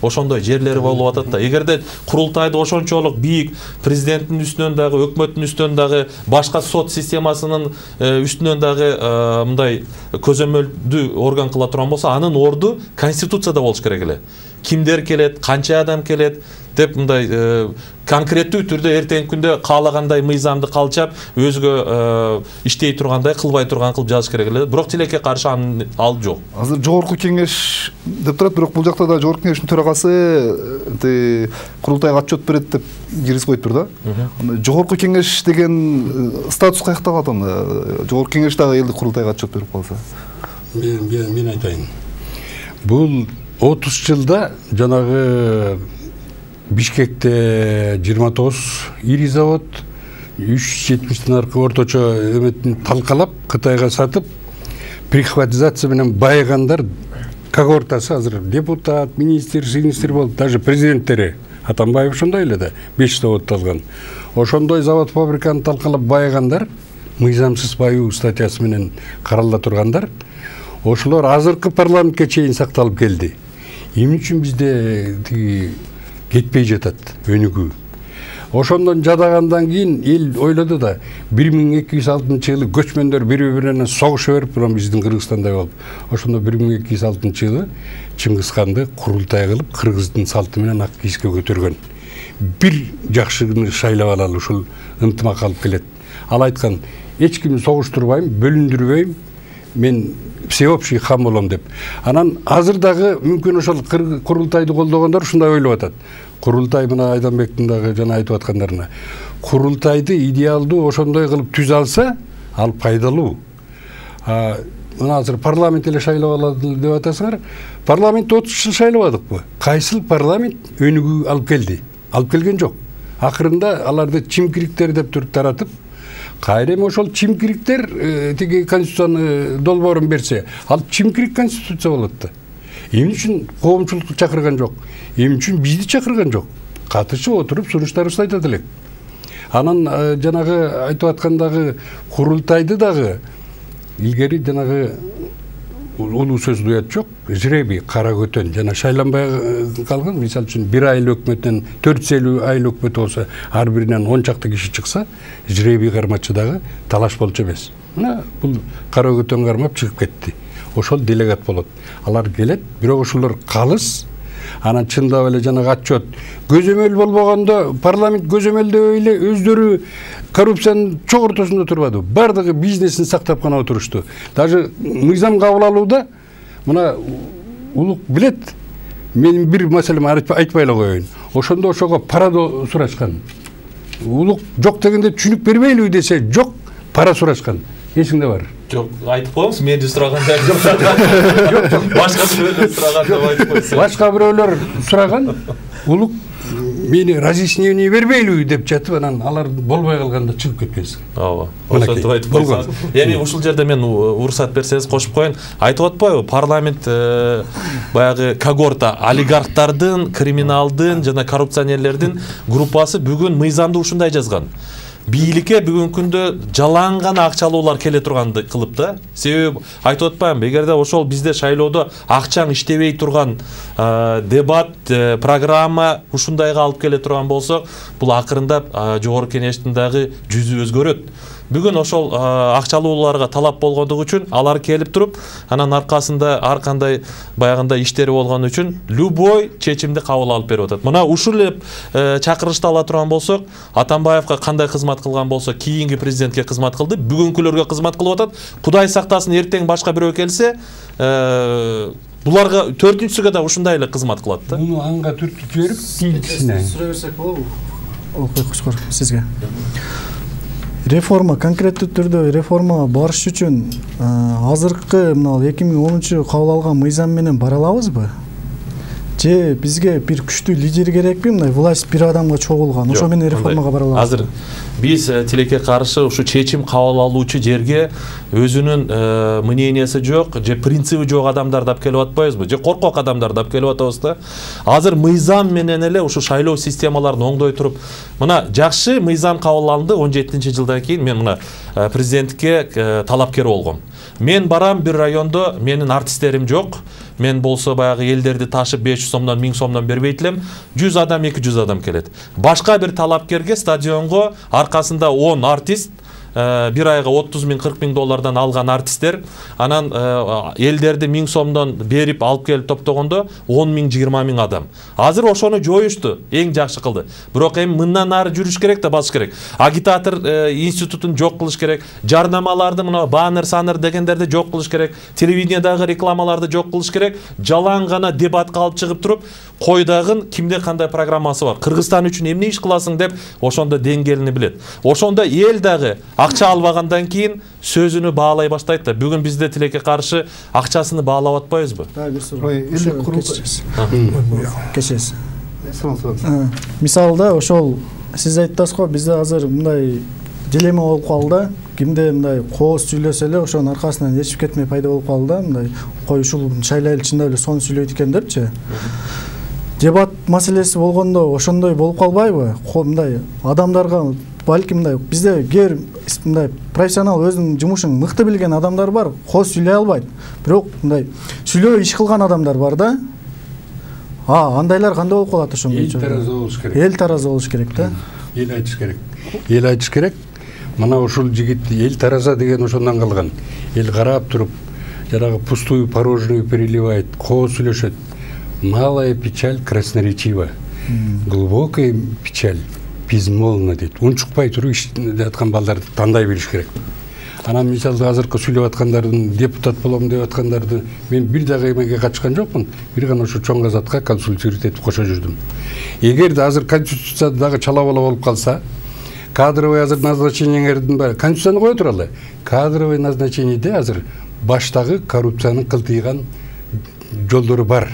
Ошондой жерлери болуп атат да. Эгерде курултайды ошончолук бийик, президенттин үстүнөн дагы, өкмөттүн үстүнөн дагы, башка сот системасынын үстүнөн дагы мындай көзөмөлдүү орган кыла турган болсо, анын орду конституцияда болуш керек эле. Кимдер келет, канча адам келет деп мындай конкреттүү түрдө эртеңки күндө каалагандай мыйзамды калчап, өзгө иштей тургандай, кылбай турган кылып жазыш керек эле. Бирок тилекке каршы анын ал жок. Азыр жогорку кеңеш деп турат, бирок бул жакта да жогорку кеңештин төрагасы курултайга отчет берет деп киргизип коюп тур да. Жогорку кеңеш деген статус каякта калат анда? Жогорку кеңеш дагы элдик курултайга отчет берип калса. Мен мен айтайын. Бул отуз жылда жанагы Бишкекте жыйырма тогуз ири завод, үч жүз жетимиштен аркы орточо эметин талкалап Кытайга сатып, прихватизация менен байыгандар когортасы азыр депутат, министр, министр болуп, даже президенттери Атамбаев ошондой эле да, беш завод алган. Ошондой завод фабриканы талкалап байыгандар, мыйзамсыз баюу статьясы менен каралда тургандар, ошолор азыркы парламентке чейин сакталып келди. Эмне үчүн бизде тиги кетпей жатат өнүгүү? Ошондон жадагандан кийин эл ойлоду да, бир миң эки жүз алтынчы жылы көчмөндөр бири-бирине согуша берип, бирок биздин Кыргызстандай болуп, ошондо бир миң эки жүз алтынчы жылы Чыңгызханды курултай кылып, кыргыздын салты менен ак кийизге көтөргөн. Бир жакшыны шайлап алалы, ушул ынтымак алып келет. Ал айткан, эч кимди согуштурбайм, бөлүндүрбөйм, мен всеобщий хан болом деп. Анан азыр дагы мүмкүн ошол курултайды колдогондор ушундай ойлоп атат. Курултай мына Айданбектин дагы жана айтып аткандарына. Курултайды идеалдуу ошондой кылып түзө алса, ал пайдалуу. А мына азыр парламент эле шайлап алады деп атасыңар. Парламент отуз жыл шайлабадыкпы? Кайсыл парламент өнүгүү алып келди? Алып келген жок. Акырында аларды чимкириктер деп туруп таратып, кайра эми ошол чимкириктер тиги конституцияны долбоорун берсе, ал чимкирик конституция болот да. Эмне үчүн коомчулукту чакырган жок? Эмне үчүн бизди чакырган жок? Катышып отуруп сунуштарыбызды айтат элек. Анан жанагы айтып аткандагы курултайды дагы илгери жанагы улуу сөз уят жок, жребий, кара көтөн жана шайланбай калган. Мисалы үчүн бир айыл өкмөттөн төрт жүз элүү айыл өкмөт болсо, ар биринен он чакты киши чыкса, жребий кармачы дагы талаш болчу эмес. Мына бул кара көтөн кармап чыгып кетти. Ошол делегат болот. Алар келет, бирок ошолор калыс. Анан чындап эле жанагы отчет көзөмөл болбогондо, парламент көзөмөлдөй эле өздөрү коррупциянын чоң ортосунда турбады. Бардыгы бизнесин сактап гана отурушту. Даже мыйзам кабыл алууда мына улук билет. Мен бир маселени айтпай эле коеюн. Ошондо ошого пара сурашкан. Улук жок дегенде түшүнүк бербейлиби десе, жок, пара сурашкан. Эсиңде бар? Жок, айтып коюңуз, менди сураганда жок. Башка бирөөлөр сураган деп айтып койсо. Башка бирөөлөр сураган, улук мени разъяснение бербейлиби деп жатып, анан алар болбой калганда чыгып кеткенсиң. Ооба. Ошентип айтып койсоңуз. Эми ушул жерде мен уруксат берсеңиз кошуп коеюн. Айтып атпайбы, парламент баягы когорта олигархтардын, криминалдын жана коррупционерлердин группасы бүгүн мыйзамды ушундай жазган. Бийликке бүгүнкү күндө жалаң гана акчалуулар келе турганды кылып да. Себеби айтып атпаймынбы, эгерде ошол бизде шайлоодо акчаң иштебей турган дебат, программа ушундайга алып келе турган болсо, бул акырындап жогорку кеңештин дагы жүзү өзгөрөт. Бүгүн ошол акчалууларга талап болгондугу үчүн алар келип туруп, анан аркасында ар кандай баягындай иштери болгон үчүн любой чечимди кабыл алып берип атат. Мына ушул эле чакырышты ала турган болсок, Атамбаевка кандай кызмат кылган болсо, кийинки президентке кызмат кылды, бүгүнкүлөргө кызмат кылып атат. Кудай сактасын, эртең башка бирөө келсе, буларга төртүнчүсүгө да ушундай эле кызмат кылат да. Муну анга түртүп жиберип, кийинкисине сурай берсек болобу? Окуй Кучкор, сизге. Реформа, конкреттүү түрдө реформага барыш үчүн азыркы мына эки миң онунчу кабыл алган мыйзам менен бара алабызбы? Же бизге бир күчтүү лидер керекпи? Мындай власть бир адамга чогулган, ошо менен реформага бара алабыз. Азыр биз тилекке каршы ушу чечим кабыл алуучу жерге өзүнүн мнениясы жок, же принциби жок адамдарды алып келип атпайбызбы? Же коркок адамдарды алып келип атабыз да? Азыр мыйзам менен эле ушу шайлоо системаларын оңдой туруп, мына жакшы мыйзам кабыл алынды он жетинчи жылдан кийин. Мен мына президенттикке талапкер болгом. Мен барам бир райондо, менин артисттерим жок. Мен болсо баягы элдерди ташып беш жүз сомдон, миң сомдон бербейт элем. жүз адам, эки жүз адам келет. Башка бир талапкерге стадионго аркасында он артист, бир айга отуз миң, кырк миң доллардан алган артисттер, анан элдерди миң сомдон берип алып келип топтогондо он миң, жыйырма миң адам. Азыр ошону жоюшту, эң жакшы кылды. Бирок эми мындан ары жүрүш керек да, басыш керек. Агитатор институтун жок кылыш керек, жарнамаларды, мына баннер, санер дегендерди жок кылыш керек, телевидениедагы рекламаларды жок кылыш керек. Жалаң гана дебатка алып чыгып туруп, койдагын кимде кандай программасы бар, Кыргызстан үчүн эмне иш кыласың деп ошондо деңгээлини билет. Ошондо эл дагы акча албагандан кийин сөзүнү баалай баштайт да. Бүгүн бизде тилекке каршы акчасыны баалап атпайбызбы? Элдик курултайчы. Кечесиз. Мисалда ошол сиз айттыңыз го, бизде азыр мындай дилемма болуп калды. Кимде мындай кооз сүйлөсө эле ошонун аркасынан ээрчип кетмей пайда болуп калды да, мындай кой ушул шайлайлы чындап эле сону сүйлөйт экен депчи. Дебат маселеси болгондо ошондой болуп калбайбы? Мындай адамдарга балким мындай бизде кээ мындай профессионал өзүнүн жумушун мыкты билген адамдар бар, кооз сүйлөй албайт. Бирок мындай сүйлөө иш кылган адамдар бар да. А, андайлар кандай болуп калат ошондой? Эл тараза болуш керек. Эл тараза болуш керек да. Эл айтыш керек. Эл айтыш керек. Мына ушул жигит эл тараза деген ошондон калган. Эл карап туруп, жанагы пустую порожнюю переливает, кооз сүйлөшөт. Малая печаль красноречива. Глубокая печаль безмолвна дейт. Унчукпай туруп иштеп аткан балдарды тандай билиш керек. Анан мисалда азыркы сүйлөп аткандардын, депутат болом деп аткандарды мен бир дагы эмеге катышкан жокмун. Бир гана ошо чоң казатка консультировать этип кошо жүрдүм. Эгерде азыр конституцияда дагы чала-бала болуп калса, кадровый азыр назначениеңердин баары конституцияны кое туралы. Кадровый назначениеде азыр баштагы коррупциянын кылтыйган жолдору бар.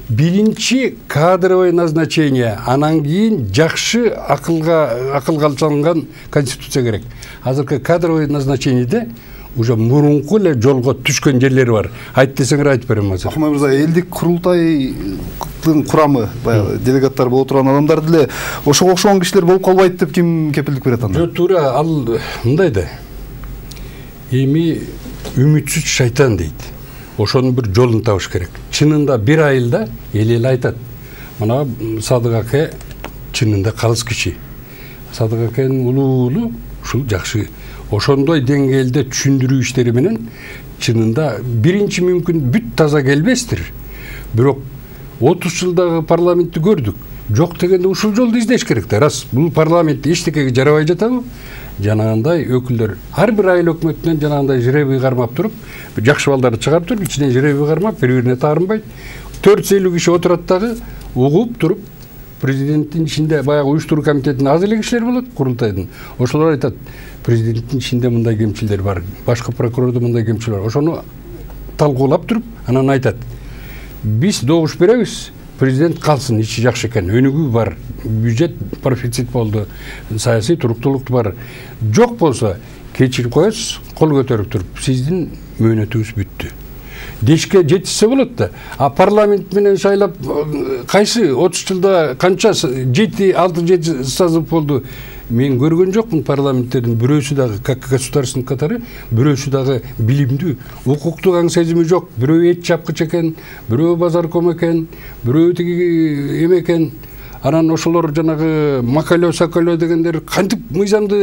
Биринчи кадровый назначение, анан кийин жакшы акылга акылга алынган конституция керек. Азыркы кадровый назначениеде уже мурунку эле жолго түшкөн жерлери бар. Айт десеңер айтып берем азыр. Акмай мырза, элдик курултайдын курамы, баягы делегаттар боло турган адамдар деле ошого окшогон кишилер болуп калбайт деп ким кепилдик берет анда? Жок, туура ал мындай да. Эми үмүтсүз шайтан дейт. Ошонун бир жолун табыш керек. Чынында бир айылда эл эл айтат. Мына Садык аке чынында калыс киши. Садык акенин улуулу ушул жакшы. Ошондой деңгээлде түшүндүрүү иштери менен чынында биринчи мүмкүн бүт таза келбестир. Бирок отуз жылдагы парламентти көрдүк. Жок дегенде ушул жолду издеш керек да. Рас бул парламент эчтекеге жарабай жатабы? Жанагындай өкүлдөр ар бир айыл өкмөтүнөн жанагындай жребий кармап туруп, жакшы балдарды чыгарып туруп, ичинен жребий кармап, бири-бирине таарынбайт. төрт жүз элүү киши отурат дагы, угуп туруп, президенттин ичинде баягы уюштуруу комитетинин аз эле кишилер болот, курултайдын. Ошолор айтат, президенттин ичинде мындай кемчилдер бар, башкы прокурордо мындай кемчилдер бар. Ошону талкуулап туруп, анан айтат. Биз добуш беребиз, президент калсын, ичи жакшы экен, өнүгүү бар, бюджет профицит болду, саясий туруктуулук бар. Жок болсо, кечирип коесуз, кол көтөрүп туруп, сиздин мөөнөтүңүз бүттү. Дешке жетишсе болот да. А парламент менен шайлап кайсы отуз жылда канча жети алты жети созыв болду. Мен көргөн жокмун парламенттердин бирөөсү дагы как государственный катары, бирөөсү дагы билимдүү, укуктук аң сезими жок. Бирөө эт чапкыч экен, бирөө базарком экен, бирөө тиги эме экен. Анан ошолор жанагы макалөө сакалөө дегендер кантип мыйзамды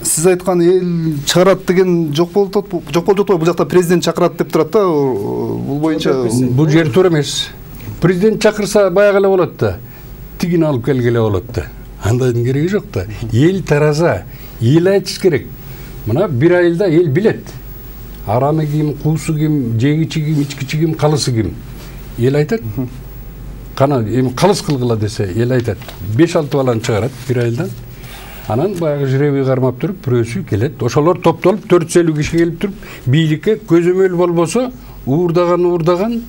сиз айткан эл чыгарат деген жок болуп атат, жок болуп жатпайбы? Бул жакта президент чакырат деп турат да. Бул боюнча бул жер туура эмес. Президент чакырса баягы эле болот да. Тигин алып келгеле болот да. Андайдын кереги жок да. Эл тараза, эл айтыш керек. Мына бир айылда эл билет. Арамы ким, куусу ким, жегичи ким, ичкичи ким, калысы ким. Эл айтат. Кана эми калыс кылгыла десе, эл айтат. беш алты баланы чыгарат бир айылдан. Анан баягы жребий кармап туруп, бирөөсү келет. Ошолор топтолуп төрт жүз элүү киши келип туруп, бийликке көзөмөл болбосо, уурдаган уурдаган,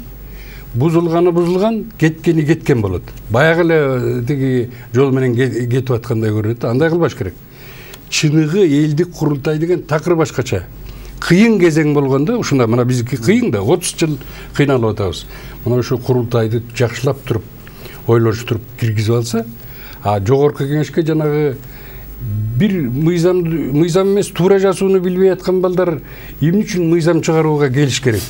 бузулганы бузулган, кеткени кеткен болот. Баягы эле тиги жол менен кетип аткандай көрүнөт. Андай кылбаш керек. Чыныгы элдик курултай деген такыр башкача. Кыйын кезең болгондо, ушунда мына биздики кыйын да, отуз жыл кыйналып атабыз. Мына ошо курултайды жакшылап туруп, ойлоштуруп киргизип алса, а жогорку кеңешке жанагы бир мыйзам мыйзам эмес туура жазууну билбей аткан балдар эмне үчүн мыйзам чыгарууга келиш керек?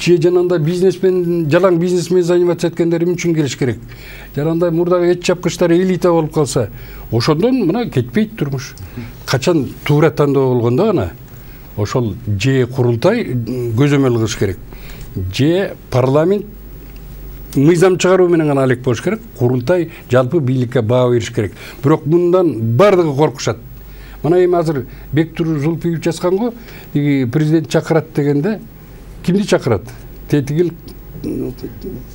Же жанагындай бизнесмен, жалаң бизнесмен заниматься эткендер эмне үчүн келиш керек? Жанагындай мурдагы эт чапкычтар элита болуп калса, ошондон мына кетпейт турмуш. Качан туура тандоо болгондо гана ошол же курултай көзөмөл кылыш керек. Же парламент мыйзам чыгаруу менен гана алек болуш керек. Курултай жалпы бийликке баа бериш керек. Бирок мындан бардыгы коркушат. Мына эми азыр Бектур Зулпиев жазган го, президент чакырат дегенде кимди чакырат? Тетигил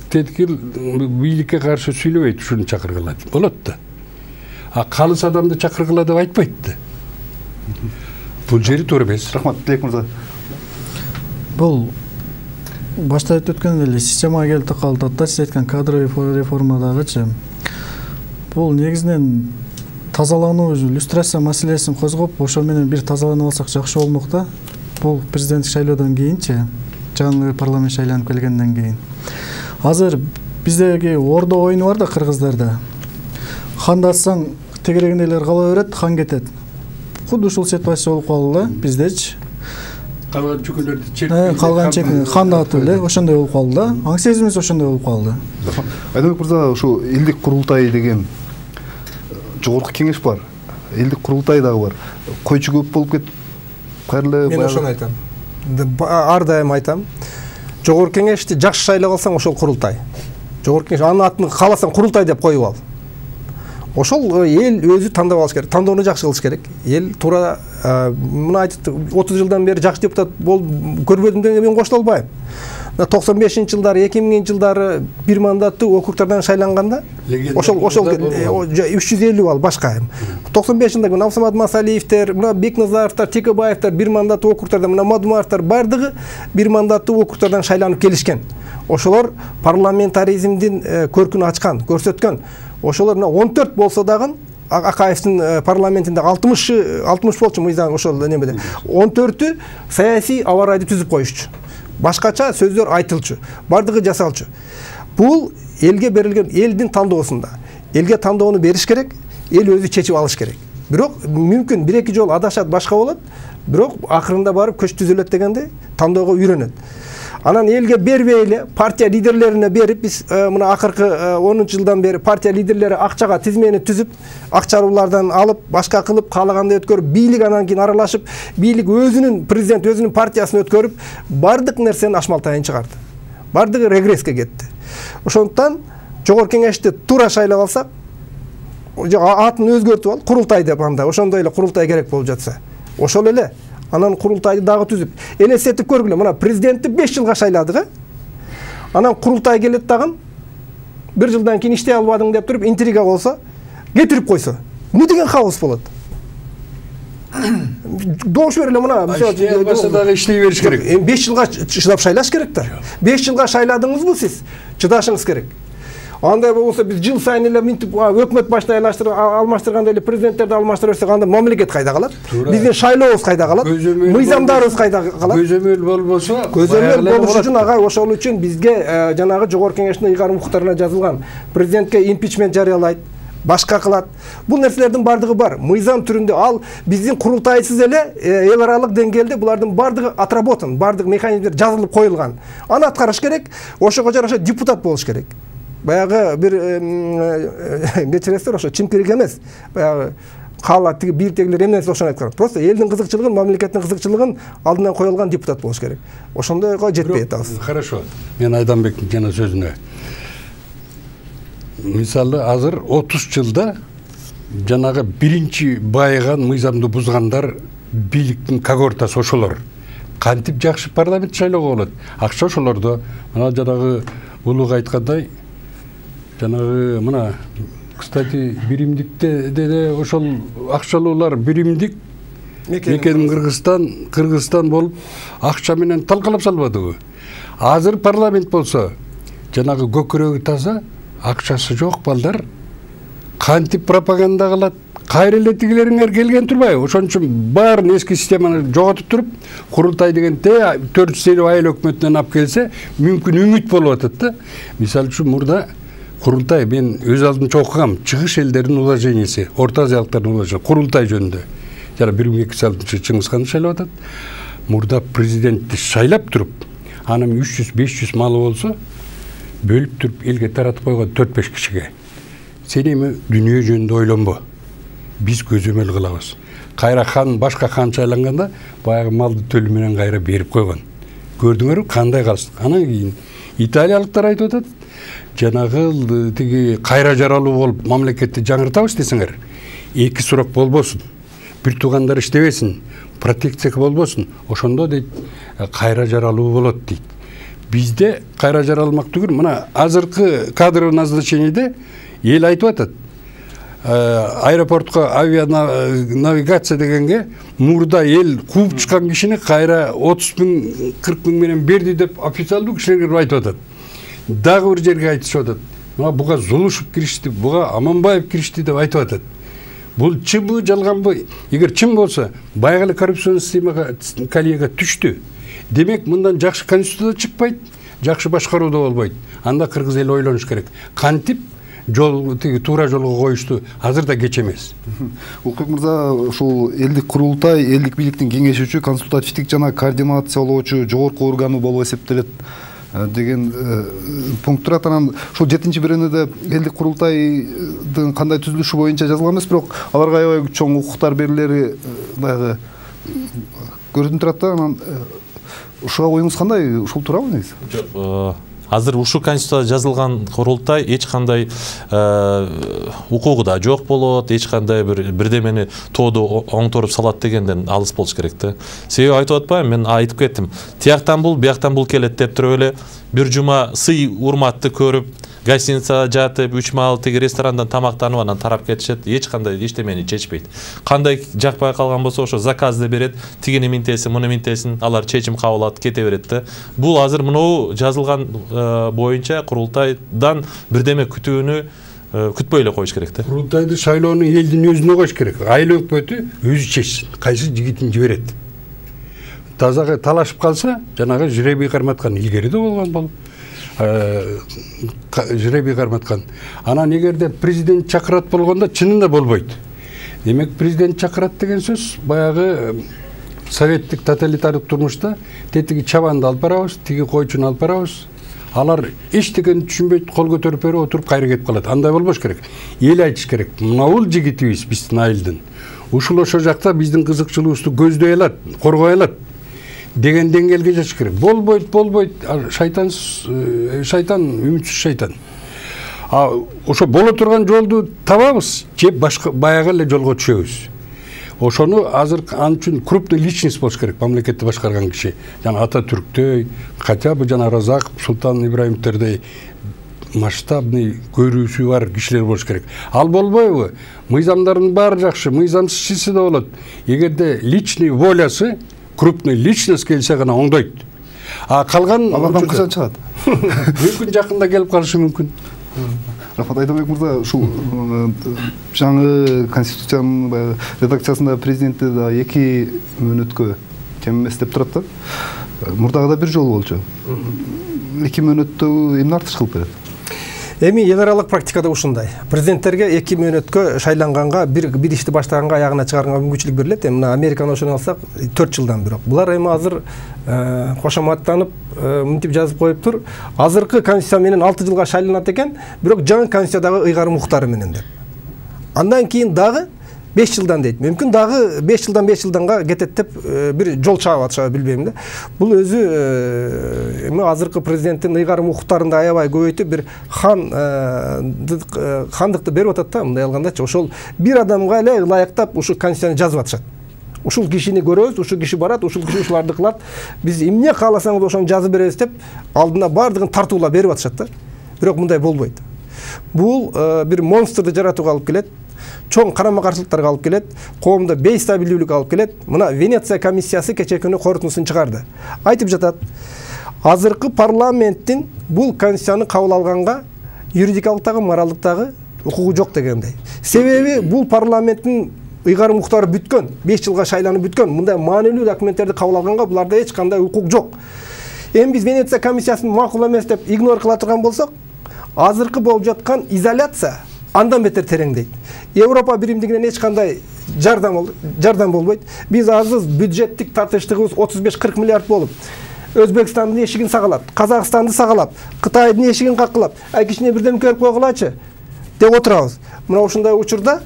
тетигил бийликке каршы сүйлөбөйт, ушуну чакыргыла болот да. А калыс адамды чакыргыла деп айтпайт да. бул жери туура эмес. Рахмат, Тилек мырза. Бул башта айтып өткөн эле системага келип такалды. Атта сиз айткан кадровый реформадагычы бул негизинен тазалануу, иллюстрация маселесин козгоп, ошо менен бир тазаланып алсак жакшы болмок да. Бул президенттик шайлоодон кийинчи, жаңы парламент шайланып келгенден кийин. Азыр биздеги ордо оюну бар да кыргыздарда. Ханды атсаң тегерегин элер кала берет, хан кетет. Худду ушул ситуация болуп калды биздечи. Калган чөкөлөрдү чек. Калган чек ханды атып эле ошондой болуп калды да. Аң сезимибиз ошондой болуп калды. Айдабек мырза, ушул элдик курултай деген жогорку кеңеш бар. Элдик курултай дагы бар. Койчу көп болуп кетип кайрылы. Мен ошону айтам. Ар дайым айтам. Жогорку кеңешти жакшы шайлап алсаң ошол курултай. Жогорку кеңеш анын атын кааласаң курултай деп коюп ал. Ошол эл өзү тандап алыш керек. Тандоону жакшы кылыш керек. Эл туура мына айтып отуз жылдан бери жакшы депутат болуп көрбөдүм дегенге мен кошула албайм. токсон бешинчи жылдары, эки миңинчи жылдары бир мандаттуу округдардан шайланганда ошол ошол үч жүз элүү балл башка. токсон бешинчи жылда мына Абсамат Масалиевтер, мына Бекназаровтар, Текебаевтер бир мандаттуу округдарда, мына Мадумаровтар бардыгы бир мандаттуу округдардан шайланып келишкен. Ошолор парламентаризмдин көркүн ачкан, көрсөткөн. Ошолор мына он төрт болсо дагы Акаевдин парламентинде алтымыш алтымыш болчу мыйзам ошол немеде. он төртү саясий аба ырайды түзүп коюшчу. Башкача сөздөр айтылчу, бардыгы жасалчу. Бул элге берилген элдин тандоосунда. Элге тандоону бериш керек, эл өзү чечип алыш керек. Бирок мүмкүн бир эки жол адашат, башка болот, бирок акырында барып көч түзүлөт дегенде тандоого үйрөнөт. Анан элге бербей эле партия лидерлерине берип, биз мына акыркы онунчу жылдан бери партия лидерлери акчага тизмени түзүп, акчалуулардан алып, башка кылып, каалагандай өткөрүп, бийлик анан кийин аралашып, бийлик өзүнүн президент өзүнүн партиясын өткөрүп, бардык нерсени ашмалтайын чыгарды. Бардыгы регресске кетти. Ошондуктан жогорку кеңешти туура шайлап алсак, атын өзгөртүп алып, курултай деп анда, ошондой эле курултай керек болуп жатса. Ошол эле анан курултайды дагы түзүп. Элестетип көргүлө, мына президентти беш жылга шайладык, анан курултай келет дагы бир жылдан кийин иштей албадың деп туруп интрига болсо, кетирип койсо. Эмне деген хаос болот? Добуш бер эле мына, мисалы, дагы иштей бериш керек. Эми беш жылга чыдап шайлаш керек да. беш жылга шайладыңызбы сиз? Чыдашыңыз керек. Андай болсо биз жыл сайын эле минтип өкмөт башына айлаштырып алмаштырганда эле президенттерди алмаштыра берсек, анда мамлекет кайда калат? Биздин шайлообуз кайда калат? Мыйзамдарыбыз кайда калат? Көзөмөл болбосо, көзөмөл болуш үчүн ага ошол үчүн бизге жанагы жогорку кеңештин ыйгарым укуктарына жазылган президентке импичмент жарыялайт, башка кылат. Бул нерселердин бардыгы бар. Мыйзам түрүндө ал биздин курултайсыз эле эл аралык деңгээлде булардын бардыгы отработан, бардык механизмдер жазылып коюлган. Аны аткарыш керек, ошого жараша депутат болуш керек. Баягы бир кечиресиздер, ошо чимкирик эмес. Баягы каалат тиги бийликтегилер эмнеси ошону айткан. Просто элдин кызыкчылыгын, мамлекеттин кызыкчылыгын алдынан коюлган депутат болуш керек. Ошондойго жетпей атабыз. Хорошо. Мен Айданбектин жана сөзүнө. Мисалы, азыр отуз жылда жанагы биринчи байыган мыйзамды бузгандар бийликтин когортасы ошолор. Кантип жакшы парламент шайлоого болот? Акча ошолордо. Мына жанагы улуг айткандай, жанагы мына, кстати, биримдикте деле ошол акчалуулар биримдик мекеним Кыргызстан, Кыргызстан болуп акча менен талкалап салбадыбы? Азыр парламент болсо, жанагы көкүрөгү таза, акчасы жок балдар кантип пропаганда кылат? Кайра эле тигилериңер келген турбайбы? Ошон үчүн баарын эски системаны жоготуп туруп, курултай дегенде төрт жүз элүү айыл өкмөтүнөн алып келсе, мүмкүн үмүт болуп атат да. Мисалы үчүн мурда курултай, мен өз алдымча окугам, чыгыш элдердин уложенияси, Орто Азиялыктардын уложенияси, курултай жөнүндө. Жана бир миң эки жүз алтымынчы Чыңгызхан шайлап атат. Мурда президентти шайлап туруп, анын үч жүз беш жүз малы болсо, бөлүп туруп элге таратып койгон төрт беш кишиге. Сен эми дүйнө жөнүндө ойлонбо. Биз көзөмөл кылабыз. Кайра хан, башка хан шайланганда баягы малды төлү менен кайра берип койгон. Көрдүңөрбү кандай калсын? Анан кийин италиялыктар айтып атат, жанагы тиги кайра жаралуу болуп мамлекетти жаңыртабыз десеңер, эки сурак болбосун. Бир туугандар иштебесин, протекция болбосун. Ошондо дейт, кайра жаралуу болот дейт. Бизде кайра жаралмак түгүл, мына азыркы кадровый назначениеде эл айтып атат. аэропортко авианавигация дегенге мурда эл кууп чыккан кишини кайра отуз миң кырк миң менен берди деп официалдуу кишилер айтып атат. Дагы бир жерге айтышып атат. Мына буга Зулушев киришти, буга Аманбаев киришти деп айтып атат. Бул чынбы, жалганбы? Эгер чын болсо, баягы эле коррупцион системага колеяга түштү. Демек, мындан жакшы конституция чыкпайт, жакшы башкаруу да болбойт. Анда кыргыз эли ойлонуш керек. Кантип жол тиги туура жолго коюшту азыр да кеч эмес. Улукбек мырза, ушул элдик курултай элдик бийликтин кеңешүүчү, консультативдик жана координациялоочу жогорку органы болуп эсептелет деген пункт турат. Анан ушул жетинчи беренеде элдик курултайдын кандай түзүлүшү боюнча жазылган эмес, бирок аларга аябай чоң укуктар берилери баягы көрүнүп турат да. Анан ушуга оюңуз кандай? Ушул туурабы негизи? Жок, азыр ушул конституцияда жазылган курултай эч кандай укугу да жок болот, эч кандай бир бирдемени тоодо оңторуп салат дегенден алыс болуш керек да. Себеби айтып атпаймынбы, мен айтып кеттим. Тияктан бул, бияктан бул келет деп туруп эле бир жума сый урматты көрүп, гостиницада жатып, үч маал тиги ресторандан тамактанып анан тарап кетишет, эч кандай иштемени чечпейт. Кандай жакпай калган болсо ошо заказды берет, тигини минтесин, муну минтесин, алар чечим кабыл алат, кете берет да. Бул азыр мынау жазылган боюнча курултайдан бирдеме күтүүнү күтпөй эле коюш керек да. Курултайды шайлоону элдин өзүнө коюш керек. Айыл өкмөтү өзү чечсин, кайсы жигитин жиберет. Тазага талашып калса, жанагы жребий карматкан илгери да болгон болуп. Жребий карматкан. Анан эгерде президент чакырат болгондо чынында болбойт. Демек президент чакырат деген сөз баягы советтик тоталитардык турмушта тетиги чабанды алып барабыз, тиги койчуну алып барабыз. Алар эчтекени түшүнбөйт, кол көтөрүп берип отуруп кайра кетип калат. Андай болбош керек. Эл айтыш керек. Мына бул жигитибиз биздин айылдын. Ушул ошо жакта биздин кызыкчылыгыбызды көздөй алат, коргой алат деген деңгээлге жаш керек. Болбойт, болбойт. Шайтан, шайтан, үмүтсүз шайтан. А ошо боло турган жолду табабыз, же башка баягы эле жолго түшөбүз. Ошону азыр ал үчүн крупный личность болуш керек, мамлекетти башкарган киши. Жана Ататүрктөй, хотя бы жана Разаков, Султан Ибраимовдордой масштабный көрүүсү бар кишилер болуш керек. Ал болбойбу? Мыйзамдардын баары жакшы, мыйзамсыз да болот. Эгерде личный волясы, крупный личность келсе гана оңдойт. А калган алардан качан чыгат? Мүмкүн жакында келип калышы мүмкүн. Рахмат Айдабек мырза, ушул жаңы конституциянын редакциясында президенти да эки мөөнөткө кем эмес деп турат да. Мурдагы да бир жолу болчу. Эки мөөнөттө эмне артыш кылып берет? Эми эл аралык практикада ушундай. Президенттерге эки мөөнөткө шайланганга, бир бир ишти баштаганга, аягына чыгарганга мүмкүнчүлүк берилет. Эми мына Американы ошону алсак, төрт жылдан бирок. Булар эми азыр кошоматтанып, мынтип жазып коюптур. Азыркы конституция менен алты жылга шайланат экен, бирок жаңы конституциядагы ыйгарым укуктары менен деп. Андан кийин дагы беш жылдан дейт. Мүмкүн дагы беш жылдан беш жылданга кетет деп бир жол чаап атышабы билбейм да. Бул өзү эми азыркы президенттин ыйгарым укуктарын да аябай көбөйтүп бир хан хандыкты берип атат да, мындай алгандачы. Ошол бир адамга эле ылайыктап ушу конституцияны жазып атышат. Ушул кишини көрөбүз, ушул киши барат, ушул киши ушуларды кылат. Биз эмне кааласаңыз ошону жазып беребиз деп алдына бардыгын тартуулап берип атышат да. Бирок мындай болбойт. Бул бир монстрду жаратууга алып келет. Чоң карама-каршылыктарга алып келет, коомдо бейстабилдүүлүк алып келет. Мына Венеция комиссиясы кечээ күнү корутундусун чыгарды. Айтып жатат, азыркы парламенттин бул конституцияны кабыл алганга юридикалыктагы, моралдыктагы укугу жок дегендей. Себеби бул парламенттин ыйгарым укуктары бүткөн, беш жылга шайланып бүткөн. Мындай маанилүү документтерди кабыл алганга буларда эч кандай укук жок. Эми биз Венеция комиссиясын макул эмес деп игнор кыла турган болсок, азыркы болуп жаткан изоляция андан бетер тереңдейт. Европа биримдигинен эч кандай жардам жардам болбойт. Биз азыр бюджеттик тартыштыгыбыз отуз беш кырк миллиард болуп, Өзбекстандын эшигин сагалап, Казакстанды сагалап, Кытайдын эшигин какылап, ай кичине бирдем көрүп койгулачы деп отурабыз. Мына ушундай учурда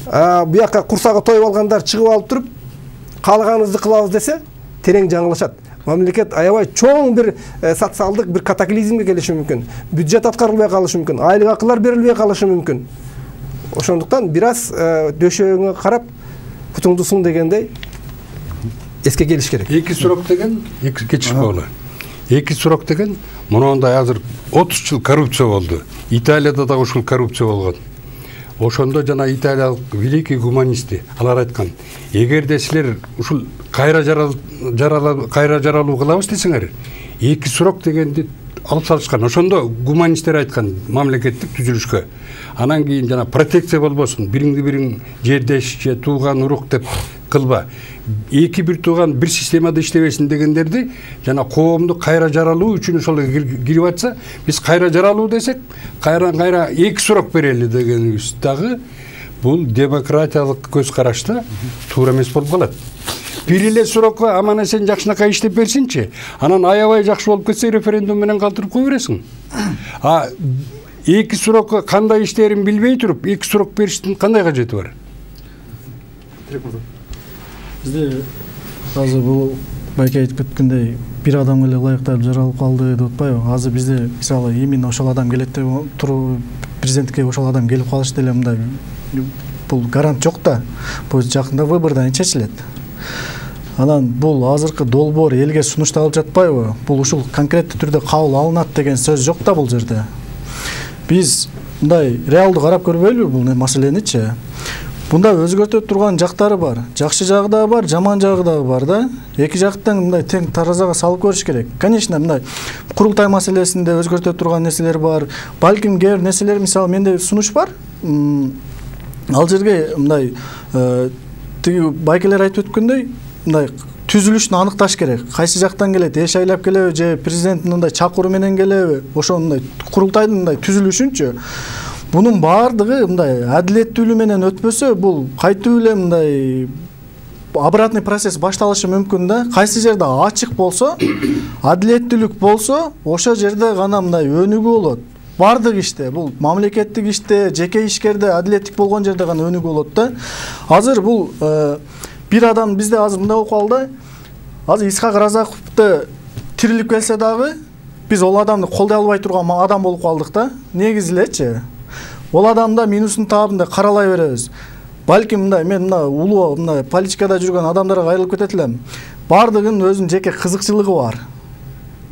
буяка курсагы тоюп алгандар чыгып алып туруп, каалаганыбызды кылабыз десе, терең жаңылышат. Мамлекет аябай чоң бир социалдык бир катаклизмге келиши мүмкүн. Бюджет аткарылбай калышы мүмкүн, айлык акылар берилбей калышы мүмкүн. Ошондуктан бир аз дөшөөгүңө карап, путуңду сун дегендей эске келиш керек. Эки сурок деген, эки кечиш болду. Эки сурок деген, мындай азыр отуз жыл коррупция болду. Италияда да ушул коррупция болгон. ошондо жана италиялык великий гуманисти алар айткан, эгерде силер ушул кайра жаралуу кайра жаралуу кылабыз десеңер, эки срок дегенди алып салышкан. Ошондо гуманисттер айткан мамлекеттик түзүлүшкө. Анан кийин жана протекция болбосун, бириңди бириң жердеш же тууган урук деп кылба. Эки бир тууган бир системада иштебесин дегендерди жана коомду кайра жаралуу үчүн ошол кирип атса, биз кайра жаралуу десек, кайра кайра эки срок берели дегенибиз дагы бул демократиялык көз карашта туура эмес болуп калат. Бир эле срокко аман эсен жакшынакай иштеп берсинчи, анан аябай жакшы болуп кетсе референдум менен калтырып кое бересиң. А эки срокко кандай иштерин билбей туруп, эки срок бериштин кандай кажети бар? Бизде азыр бул байке айтып кеткендей бир адам эле ылайыктап жаралып калды деп атпайбы? Азыр бизде мисалы именно ошол адам келет деп туруп президенттикке ошол адам келип калышы деле мындай бул гарант жок да. Бул жакында выбордон чечилет. Анан бул азыркы долбоор элге сунушталып жатпайбы? Бул ушул конкреттүү түрдө кабыл алынат деген сөз жок да бул жерде. Биз мындай реалдуу карап көрбөйлүбү бул маселеничи? Бунда өзгөртө турган жактары бар. Жакшы жагы да бар, жаман жагы да бар да. Эки жактан мындай тең таразага салып көрүш керек. Конечно, мындай курултай маселесинде өзгөртө турган нерселер бар. Балким кээ бир нерселер, мисалы, менде сунуш бар. Ал жерге мындай тиги байкелер айтып өткөндөй, мындай түзүлүшүн аныкташ керек. Кайсы жактан келет, эш айлап келеби же президенттин мындай чакыруу менен келеби? Ошо мындай курултайдын мындай түзүлүшүнчү. Бунун баардыгы мындай адилеттүүлүк менен өтпөсө, бул кайтуу эле мындай обратный процесс башталышы мүмкүн да. Кайсы жерде ачык болсо, адилеттүүлүк болсо, ошол жерде гана мындай өнүгүү болот. Бардык иште, бул мамлекеттик иште, жеке ишкерде адилеттик болгон жерде гана өнүгүү болот да. Азыр бул бир адам бизде азыр мындай болуп калды. Азыр Исхак Разаковду тирилип келсе дагы биз ол адамды колдой албай турган адам болуп калдык да. Негизи элечи. Ол адамда минусун таап мындай каралай беребиз. Балким мындай мен мына улуу мындай политикада жүргөн адамдарга кайрылып кетет элем. Бардыгынын өзүнүн жеке кызыкчылыгы бар.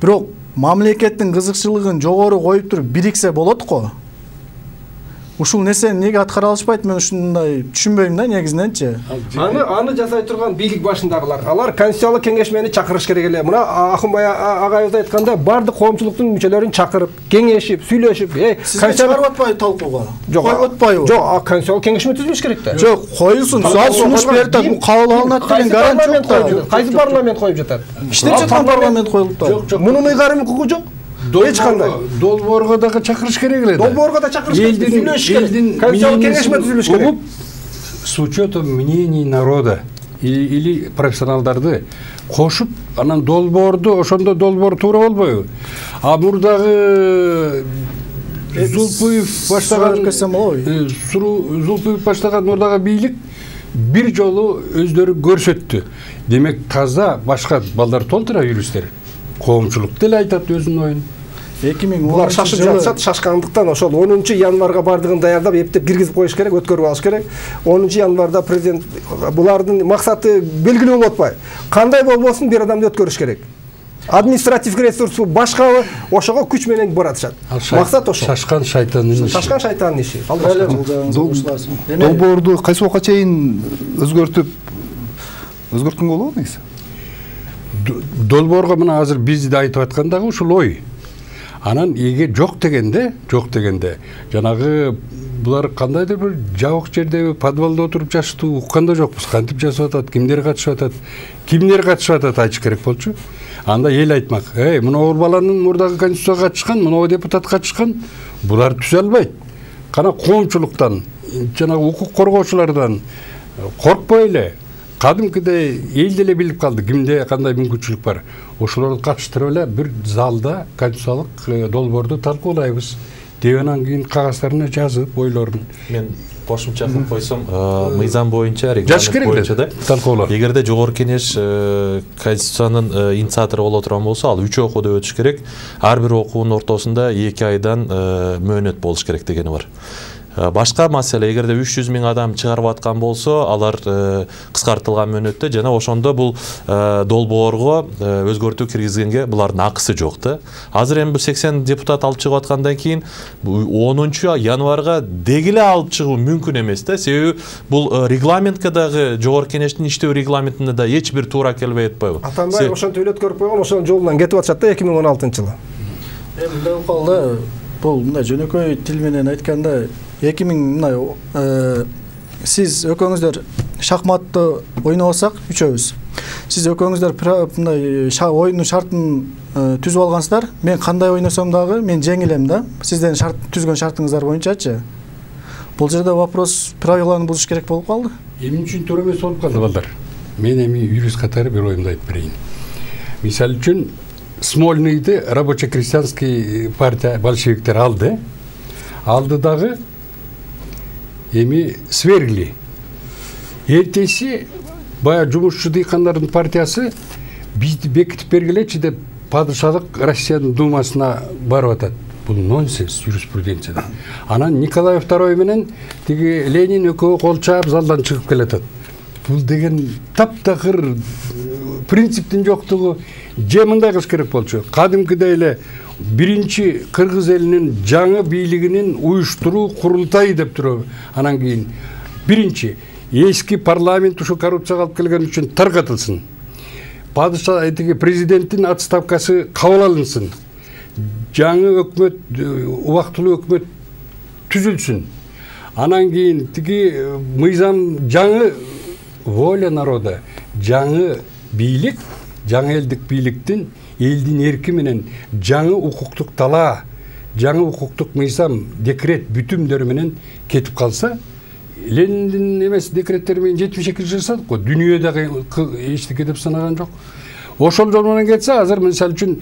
Бирок мамлекеттин кызыкчылыгын жогору коюп туруп бириксе болот го. Ушул нерсени неге аткара алышпайт, мен ушундай түшүнбөйм да негизиненчи. Аны аны жасай турган бийлик башындагылар. Алар конституциялык кеңешмени чакырыш керек эле. Мына Акынбай агайыбыз айтканда, бардык коомчулуктун мүчөлөрүн чакырып, кеңешип, сүйлөшүп, э, конституция чыгарып атпайбы талкууга? Коюп атпайбы? Жок, конституциялык кеңешме түзүлүш керек да. Жок, коюлсун. Ал сунуш берет, бул кабыл алынат деген гарант жок да. Кайсы парламент коюп жатат? Иштеп жаткан парламент коюлуп да. Жок, жок. Мунун ыйгарым укугу жок. Эч кандай. Долбоорго дагы чакырыш керек эле. Долбоорго да чакырыш керек. Сүйлөшүш керек. Конституциялык кеңешме түзүлүш керек. С учетом мнений народа или профессионалдарды кошуп, анан долбоорду, ошондо долбоор туура болбойбу? А мурдагы Зулпуев баштаган Зулпуев баштаган мурдагы бийлик бир жолу өздөрү көрсөттү. Демек таза башка балдар толтура юристтер. Коомчулук деле айтат өзүнүн оюн. эки миң он шашып жатышат, шашкандыктан ошол онунчу январга бардыгын даярдап, эптеп киргизип коюш керек, өткөрүп алыш керек. онунчу январда президент булардын максаты белгилүү болуп атпайбы? Кандай болбосун бир адамды өткөрүш керек. Административдик ресурсу башкабы, ошого күч менен баратышат. Максат ошол. Шашкан шайтандын иши. Шашкан шайтандын иши. Долбоорду кайсы убакка чейин өзгөртүп өзгөрткөнгө болобу негизи? Долбоорго мына азыр биз да айтып аткан дагы ушул ой. Анан эге жок дегенде, жок дегенде, жанагы булар кандайдыр бир жабык жерде подвалда отуруп жашытуу укканда жокпуз. Кантип жасап атат, кимдер катышып атат, кимдер катышып атат айтыш керек болчу. Анда эл айтмак, эй, мына баланын мурдагы конституцияга катышкан, мына депутат катышкан, булар түзө албайт. Кана коомчулуктан, жанагы укук коргоочулардан коркпой эле. Кадимкидей эл деле билип калды кимде кандай мүмкүнчүлүк бар. Ошолорду катыштырып эле бир залда конституциялык долбоорду талкуулайбыз. Деп анан кийин кагаздарын жазып ойлорун. Мен кошумча кылып койсом, мыйзам боюнча, регламент боюнча да талкуулар. Эгерде жогорку кеңеш конституциянын инициатору боло турган болсо, ал үч окууду өтүш керек. Ар бир окуунун ортосунда эки айдан мөөнөт болуш керек дегени бар. Башка маселе, эгерде үч жүз миң адам чыгарып аткан болсо, алар кыскартылган мөөнөттө жана ошондо бул долбоорго өзгөртүү киргизгенге булардын акысы жок да. Азыр эми бул сексен депутат алып чыгып аткандан кийин онунчу январга дегиле алып чыгуу мүмкүн эмес да. Себеби бул регламентке дагы, жогорку кеңештин иштөө регламентине да эч бир туура келбей атпайбы? Атамбаев ошентип үйлөткөрүп койгон, ошонун жолунан кетип атышат да эки миң он алтынчы жылы. Эми мындай болуп калды, бул мындай жөнөкөй тил менен айтканда эки миң мындай сиз экөөңүздөр шахматты ойнобосак үчөөбүз. Сиз экөөңүздөр мындай оюндун шартын түзүп алгансыздар. Мен кандай ойносом дагы мен жеңилем да. Сиздердин шарт түзгөн шартыңыздар боюнчачы. Бул жерде вопрос правиланы бузуш керек болуп калды. Эмне үчүн туура эмес болуп калды балдар? Мен эми юрист катары бир оюмду айтып берейин. Мисалы үчүн Смольныйды рабочо-крестьянский партия большевиктер алды. Алды дагы эми свергли. Эртеси баягы жумушчу дыйкандардын партиясы бизди бекитип бергилечи деп падышалык Россиянын думасына барып атат. Бул нонсенс юриспруденцияда. Анан Николай второй менен тиги Ленин экөө кол чаап залдан чыгып келатат. Бул деген таптакыр принциптин жоктугу. Же мындай кылыш керек болчу. Кадимкидей эле биринчи кыргыз элинин жаңы бийлигинин уюштуруу курултайы деп туруп, анан кийин биринчи эски парламент ушу коррупцияга алып келген үчүн таркатылсын. Падыша этиги президенттин отставкасы кабыл алынсын. Жаңы өкмөт, убактылуу өкмөт түзүлсүн. Анан кийин тиги мыйзам жаңы воля народа, жаңы бийлик, жаңы элдик бийликтин элдин эрки менен жаңы укуктук талаа, жаңы укуктук мыйзам, декрет бүтүмдөр менен кетип калса, Лениндин эмес декреттери менен жетимиш экинчи жылы жасадык го. Дүйнөдөгү эчтеке деп санаган жок. Ошол жол менен кетсе, азыр мисалы үчүн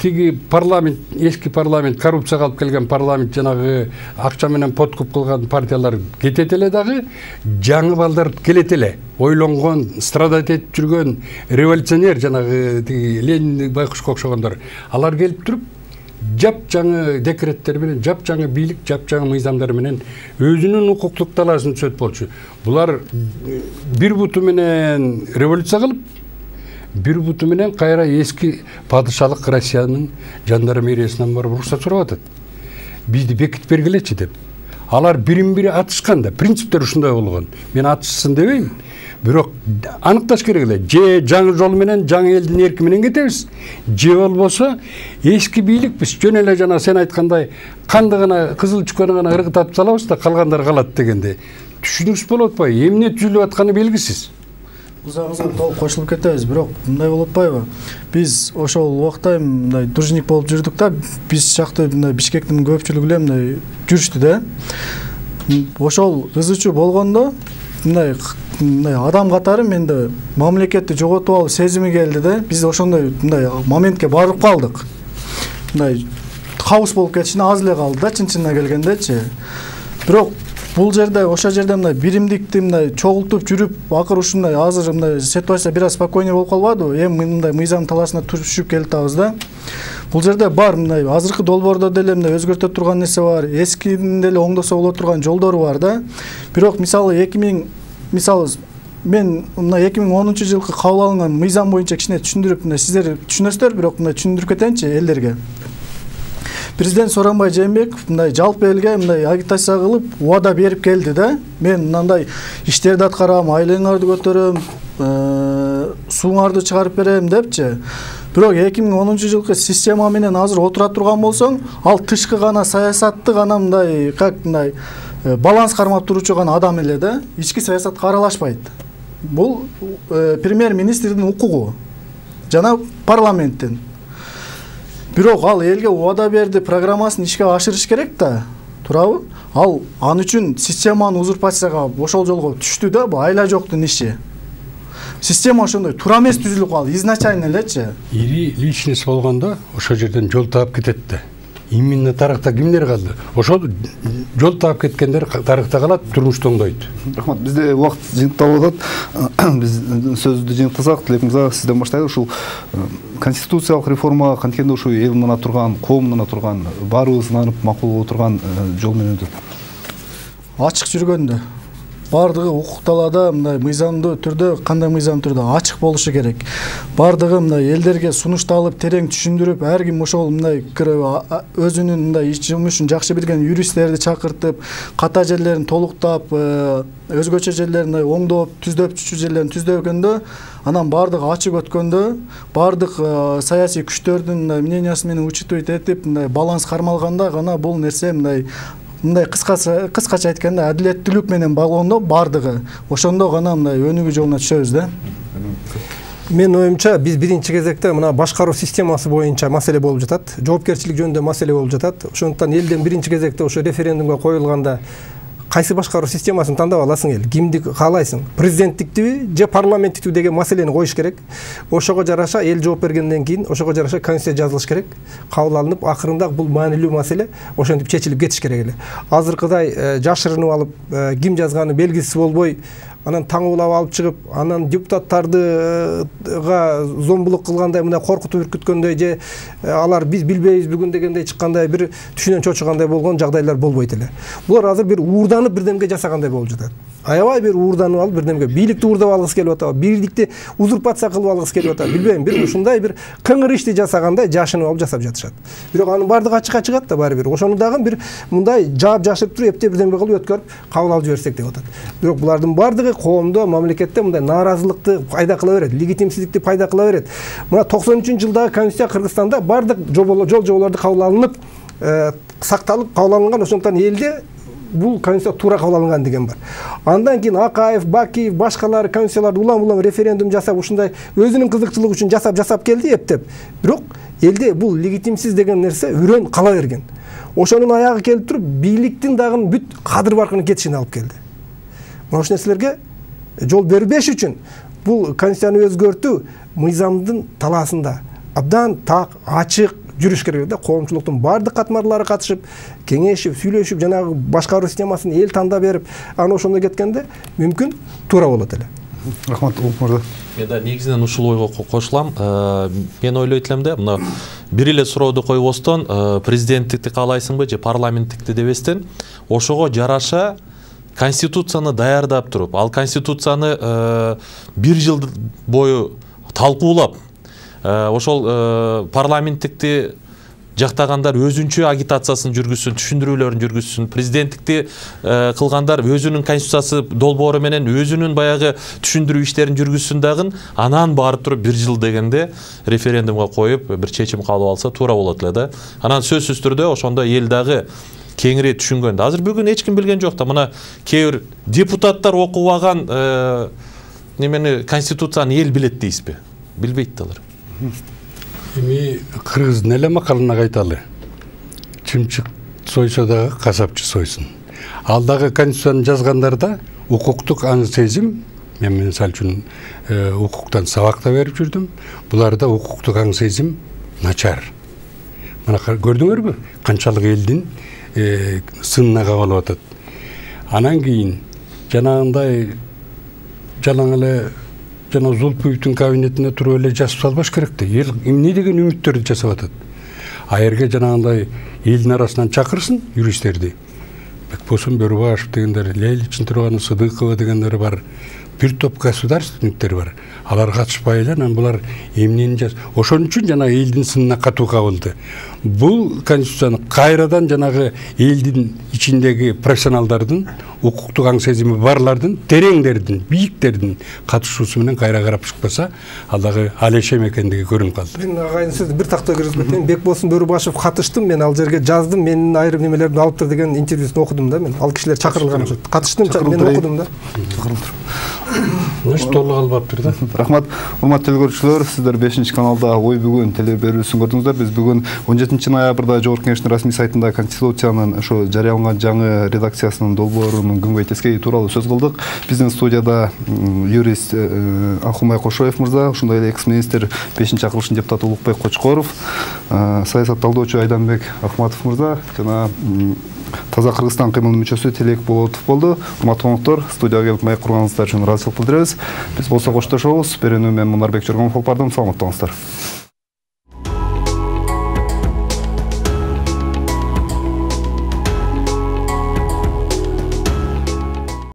тиги парламент, эски парламент, коррупцияга алып келген парламент, жанагы акча менен подкуп кылган партиялар кетет эле дагы, жаңы балдар келет эле. Ойлонгон, страдать этип жүргөн революционер, жанагы тиги Ленин байкушка окшогондор, алар келип туруп, жап жаңы декреттер менен, жап жаңы бийлик, жап жаңы мыйзамдар менен өзүнүн укуктук талаасын түзөт болчу. Булар бир буту менен революция кылып, бир буту менен кайра эски падышалык Россиянын жандармериясынан барып уруксат сурап атат. Бизди бекитип бергилечи деп. Алар бирин бири атышкан да, принциптер ушундай болгон. Мен атышсын дебейм. Бирок аныкташ керек эле. Же жаңы жол менен, жаңы элдин эрки менен кетебиз. Же болбосо эски бийликпиз. Жөн эле жана сен айткандай канды гана, кызыл чүкөнү гана ыргытып салабыз да калгандар калат дегенде. Түшүнүксүз болуп атпайбы? Эмне түзүлүп атканы белгисиз. Бузагыңызга толук кошулуп кетебиз, бирок мындай болуп атпайбы? Биз ошол убакта мындай должник болуп жүрдүк да, биз жакты мындай Бишкектин көпчүлүгү эле мындай жүрүштү да. Ошол ызычуу болгондо мындай мындай адам катары менде мамлекетти жоготуп алуу сезими келди да. Биз ошондой мындай моментке барып калдык. Мындай кабыс болуп кетишине аз эле калды да, чын-чынына келгендечи. Бирок бул жерде, ошол жерде мындай биримдикти мындай чогултуп жүрүп, акыр ушундай азыр мындай ситуация бир аз спокойнее болуп калбадыбы? Эми мындай мыйзам талаасына түшүп келатабыз да. Бул жерде бар мындай азыркы долбоордо деле мындай өзгөртө турган нерсе бар, эскинин деле оңдосо боло турган жолдору бар да. Бирок мисалы эки миң мисалы мен мына эки миң онунчу жылкы кабыл алынган мыйзам боюнча кичине түшүндүрүп, мына сиздер түшүнөсүздөр, бирок мына түшүндүрүп кетейинчи элдерге. Президент Сооронбай Жээнбеков мындай жалпы элге мындай агитация кылып, убада берип келди да. Мен мындай иштерди аткарам, айлыгыңарды көтөрөм, сууңарды чыгарып берем депчи. Бирок эки миң онунчу жылкы система менен азыр отура турган болсоң, ал тышкы гана саясатты гана мындай как мындай баланс кармап туруучу гана адам эле да, ички саясатка аралашпайт. Бул премьер-министрдин укугу жана парламенттин. Бирок ал элге убада берди, программасын ишке ашырыш керек да, туурабы? Ал ан үчүн системаны узурпацияга ошол жолго түштү да, бул айла жоктун иши. Система ошондой туура эмес түзүлүп калды, изначально элечи. Ири личность болгондо ошол жерден жол таап кетет да. Именно тарыхта кимдер калды? Ошол жол таап кеткендер тарыхта калат, турмушта оңдойт. Рахмат, бизде убакыт жыйынталып атат. Биз сөздү жыйынтыксак, тилегимиз сизден баштайлы. Ушул конституциялык реформа канткенде ушу эл мына турган, коом мына турган, баарыбыз ынанып макулдап отурган жол менен өтөт. ачык жүргөндө, баардыгы укук талаада мындай мыйзамдуу түрдө, кандай мыйзамдуу түрдө ачык болушу керек. Баардыгы мындай элдерге сунушталып, терең түшүндүрүп, ар ким ошол мындай өзүнүн мындай иш жумушун жакшы билген юристтерди чакыртып, ката жерлерин толуктап, өзгөчө жерлерин оңдоп, түздөп, чүчү жерлерин түздөгөндө, анан баардыгы ачык өткөндө, баардык саясий күчтөрдүн мнениясы менен учитывать этип, мындай баланс кармалганда гана бул нерсе мындай мындай кыскача кыскача айтканда адилеттүүлүк менен болгондо баардыгы ошондо гана мындай өнүгүү жолуна түшөбүз да. Менин оюмча биз биринчи кезекте мына башкаруу системасы боюнча маселе болуп жатат, жоопкерчилик жөнүндө маселе болуп жатат. Ошондуктан элден биринчи кезекте ошо референдумга коюлганда кайсы башкаруу системасын тандап аласың эл, кимди каалайсың, президенттиктиби же парламенттиктиби деген маселени коюш керек. Ошого жараша эл жооп бергенден кийин ошого жараша конституция жазылыш керек, кабыл алынып, акырында бул маанилүү маселе ошентип чечилип кетиш керек эле. Азыркыдай жашырынып алып, ким жазганы белгисиз болбой, анан таңуулап алып чыгып, анан депутаттардыга зомбулук кылгандай, мындай коркутуп үркүткөндөй же алар биз билбейбиз бүгүн дегендей чыккандай бир түшүнөн чочугандай болгон жагдайлар болбойт эле. Булар азыр бир уурданып бирдемге жасагандай болуп жатат. Аябай бир уурданып алып бирдемге бийликти уурдап алгысы келип атабы, бийликти узурпация кылып алгысы келип атабы, билбейм, бир ушундай бир кыңыр ишти жасагандай жашынып алып жасап жатышат. Бирок анын баардыгы ачыкка чыгат да баары бир. Ошону дагы бир мындай жаап жашырып туруп эптеп бирдеме кылып өткөрүп кабыл алып жиберсек деп атат. Бирок булардын баардыгы коомдо, мамлекетте мындай нааразылыкты пайда кыла берет, легитимсиздикти пайда кыла берет. Мына токсон үчүнчү жылдагы конституция Кыргызстанда баардык жол жоболорду кабыл алынып, сакталып кабыл алынган, ошондуктан элде бул конституция туура кабыл алынган деген бар. Андан кийин Акаев, Бакиев, башкалар конституцияларды улам-улам референдум жасап, ушундай өзүнүн кызыкчылыгы үчүн жасап жасап келди эптеп. Бирок элде бул легитимсиз деген нерсе үрөн кала берген. Ошонун аягы келип туруп, бийликтин дагы бүт кадыр баркынын кетишине алып келди. Мына ошол нерселерге жол бербеш үчүн бул конституцияны өзгөртүү мыйзамдын талаасында абдан так, ачык жүрүш керек да. Коомчулуктун баардык катмарлары катышып, кеңешип, сүйлөшүп, жанагы башкаруу системасын эл тандап берип, анан ошондой кеткенде мүмкүн туура болот эле. Рахмат, Улук мырза. Мен да негизинен ушул ойго кошулам. Мен ойлойт элем да, мына бир эле сурооду койбостон, президенттикти каалайсыңбы же парламенттикти дебестен, ошого жараша конституцияны даярдап туруп, ал конституцияны бир жыл бою талкуулап, ошол парламенттикти жактагандар өзүнчө агитациясын жүргүзсүн, түшүндүрүүлөрүн жүргүзсүн, президенттикти кылгандар өзүнүн конституциясы долбоору менен өзүнүн баягы түшүндүрүү иштерин жүргүзсүн дагы, анан барып туруп бир жыл дегенде референдумга коюп бир чечим кабыл алса туура болот эле да. Анан сөзсүз түрдө ошондо эл дагы кеңири түшүнгөндө. Азыр бүгүн эч ким билген жок да. Мына кээ бир депутаттар окубаган немени конституцияны эл билет дейсизби? Билбейт да алар. Эми кыргыздын эле макалына кайталы. Чымчык сойсо дагы касапчы сойсун. Ал дагы конституцияны жазгандарда укуктук аң сезим, мен мисалы үчүн укуктан сабак да берип жүрдүм. Буларда укуктук аң сезим начар. Мына көрдүңөрбү? Канчалык элдин сынына кабылып атат. Анан кийин жанагындай жалаң эле жана Зулпуевдин кабинетине туруп эле жазып салбаш керек да. Эл эмне деген үмүттөрдү жасап атат. Айырга жанагындай элдин арасынан чакырсын юристтерди. Бекбосун Бөрүбашев дегендер, Лейличин Турганов, Сыдыкова дегендер бар. Бир топ государственниктер бар. Алар катышпай эле, анан булар эмнени жаз. Ошон үчүн жана элдин сынына катуу кабылды. Бул конституцияны кайрадан жанагы элдин ичиндеги профессионалдардын, укуктук аң сезими барлардын, тереңдердин, бийиктердин катышуусу менен кайра карап чыкпаса, ал дагы алешем экендиги көрүнүп калды. Мен агайын сөз бир такта киргизип кетейин. Бекбосун Бөрүбашев катыштым, мен ал жерге жаздым, менин айрым немелеримди алыптыр деген интервьюсун окудум да мен. Ал кишилер чакырылган окшойт. Катыштым, мен окудум да. Значит, толук албаптыр да. Рахмат, урматтуу телекөрүүчүлөр, сиздер бешинчи каналда Ой бүгүн телеберүүсүн көрдүңүздөр. Биз бүгүн он жетинчи ноябрда Жогорку Кеңештин расмий сайтында Конституциянын ошо жарыяланган жаңы редакциясынын долбоорунун күнгөй тескеи тууралуу сөз кылдык. Биздин студияда юрист Алхумай Кошоев мырза, ошондой эле экс-министр бешинчи акылыштын депутаты Улукбек Кочкоров, саясат талдоочу Айданбек Акматов мырза жана Таза Кыргызстан кыймылынын мүчөсү Телек Болотов болду. Урматтуу конокторор, студияга келип маек курганыңыздар үчүн ыраазычылык билдиребиз. Биз болсо коштошобуз. Берүүнү мен Мунарбек Жоргомов алып бардым. Саламатта болуңуздар.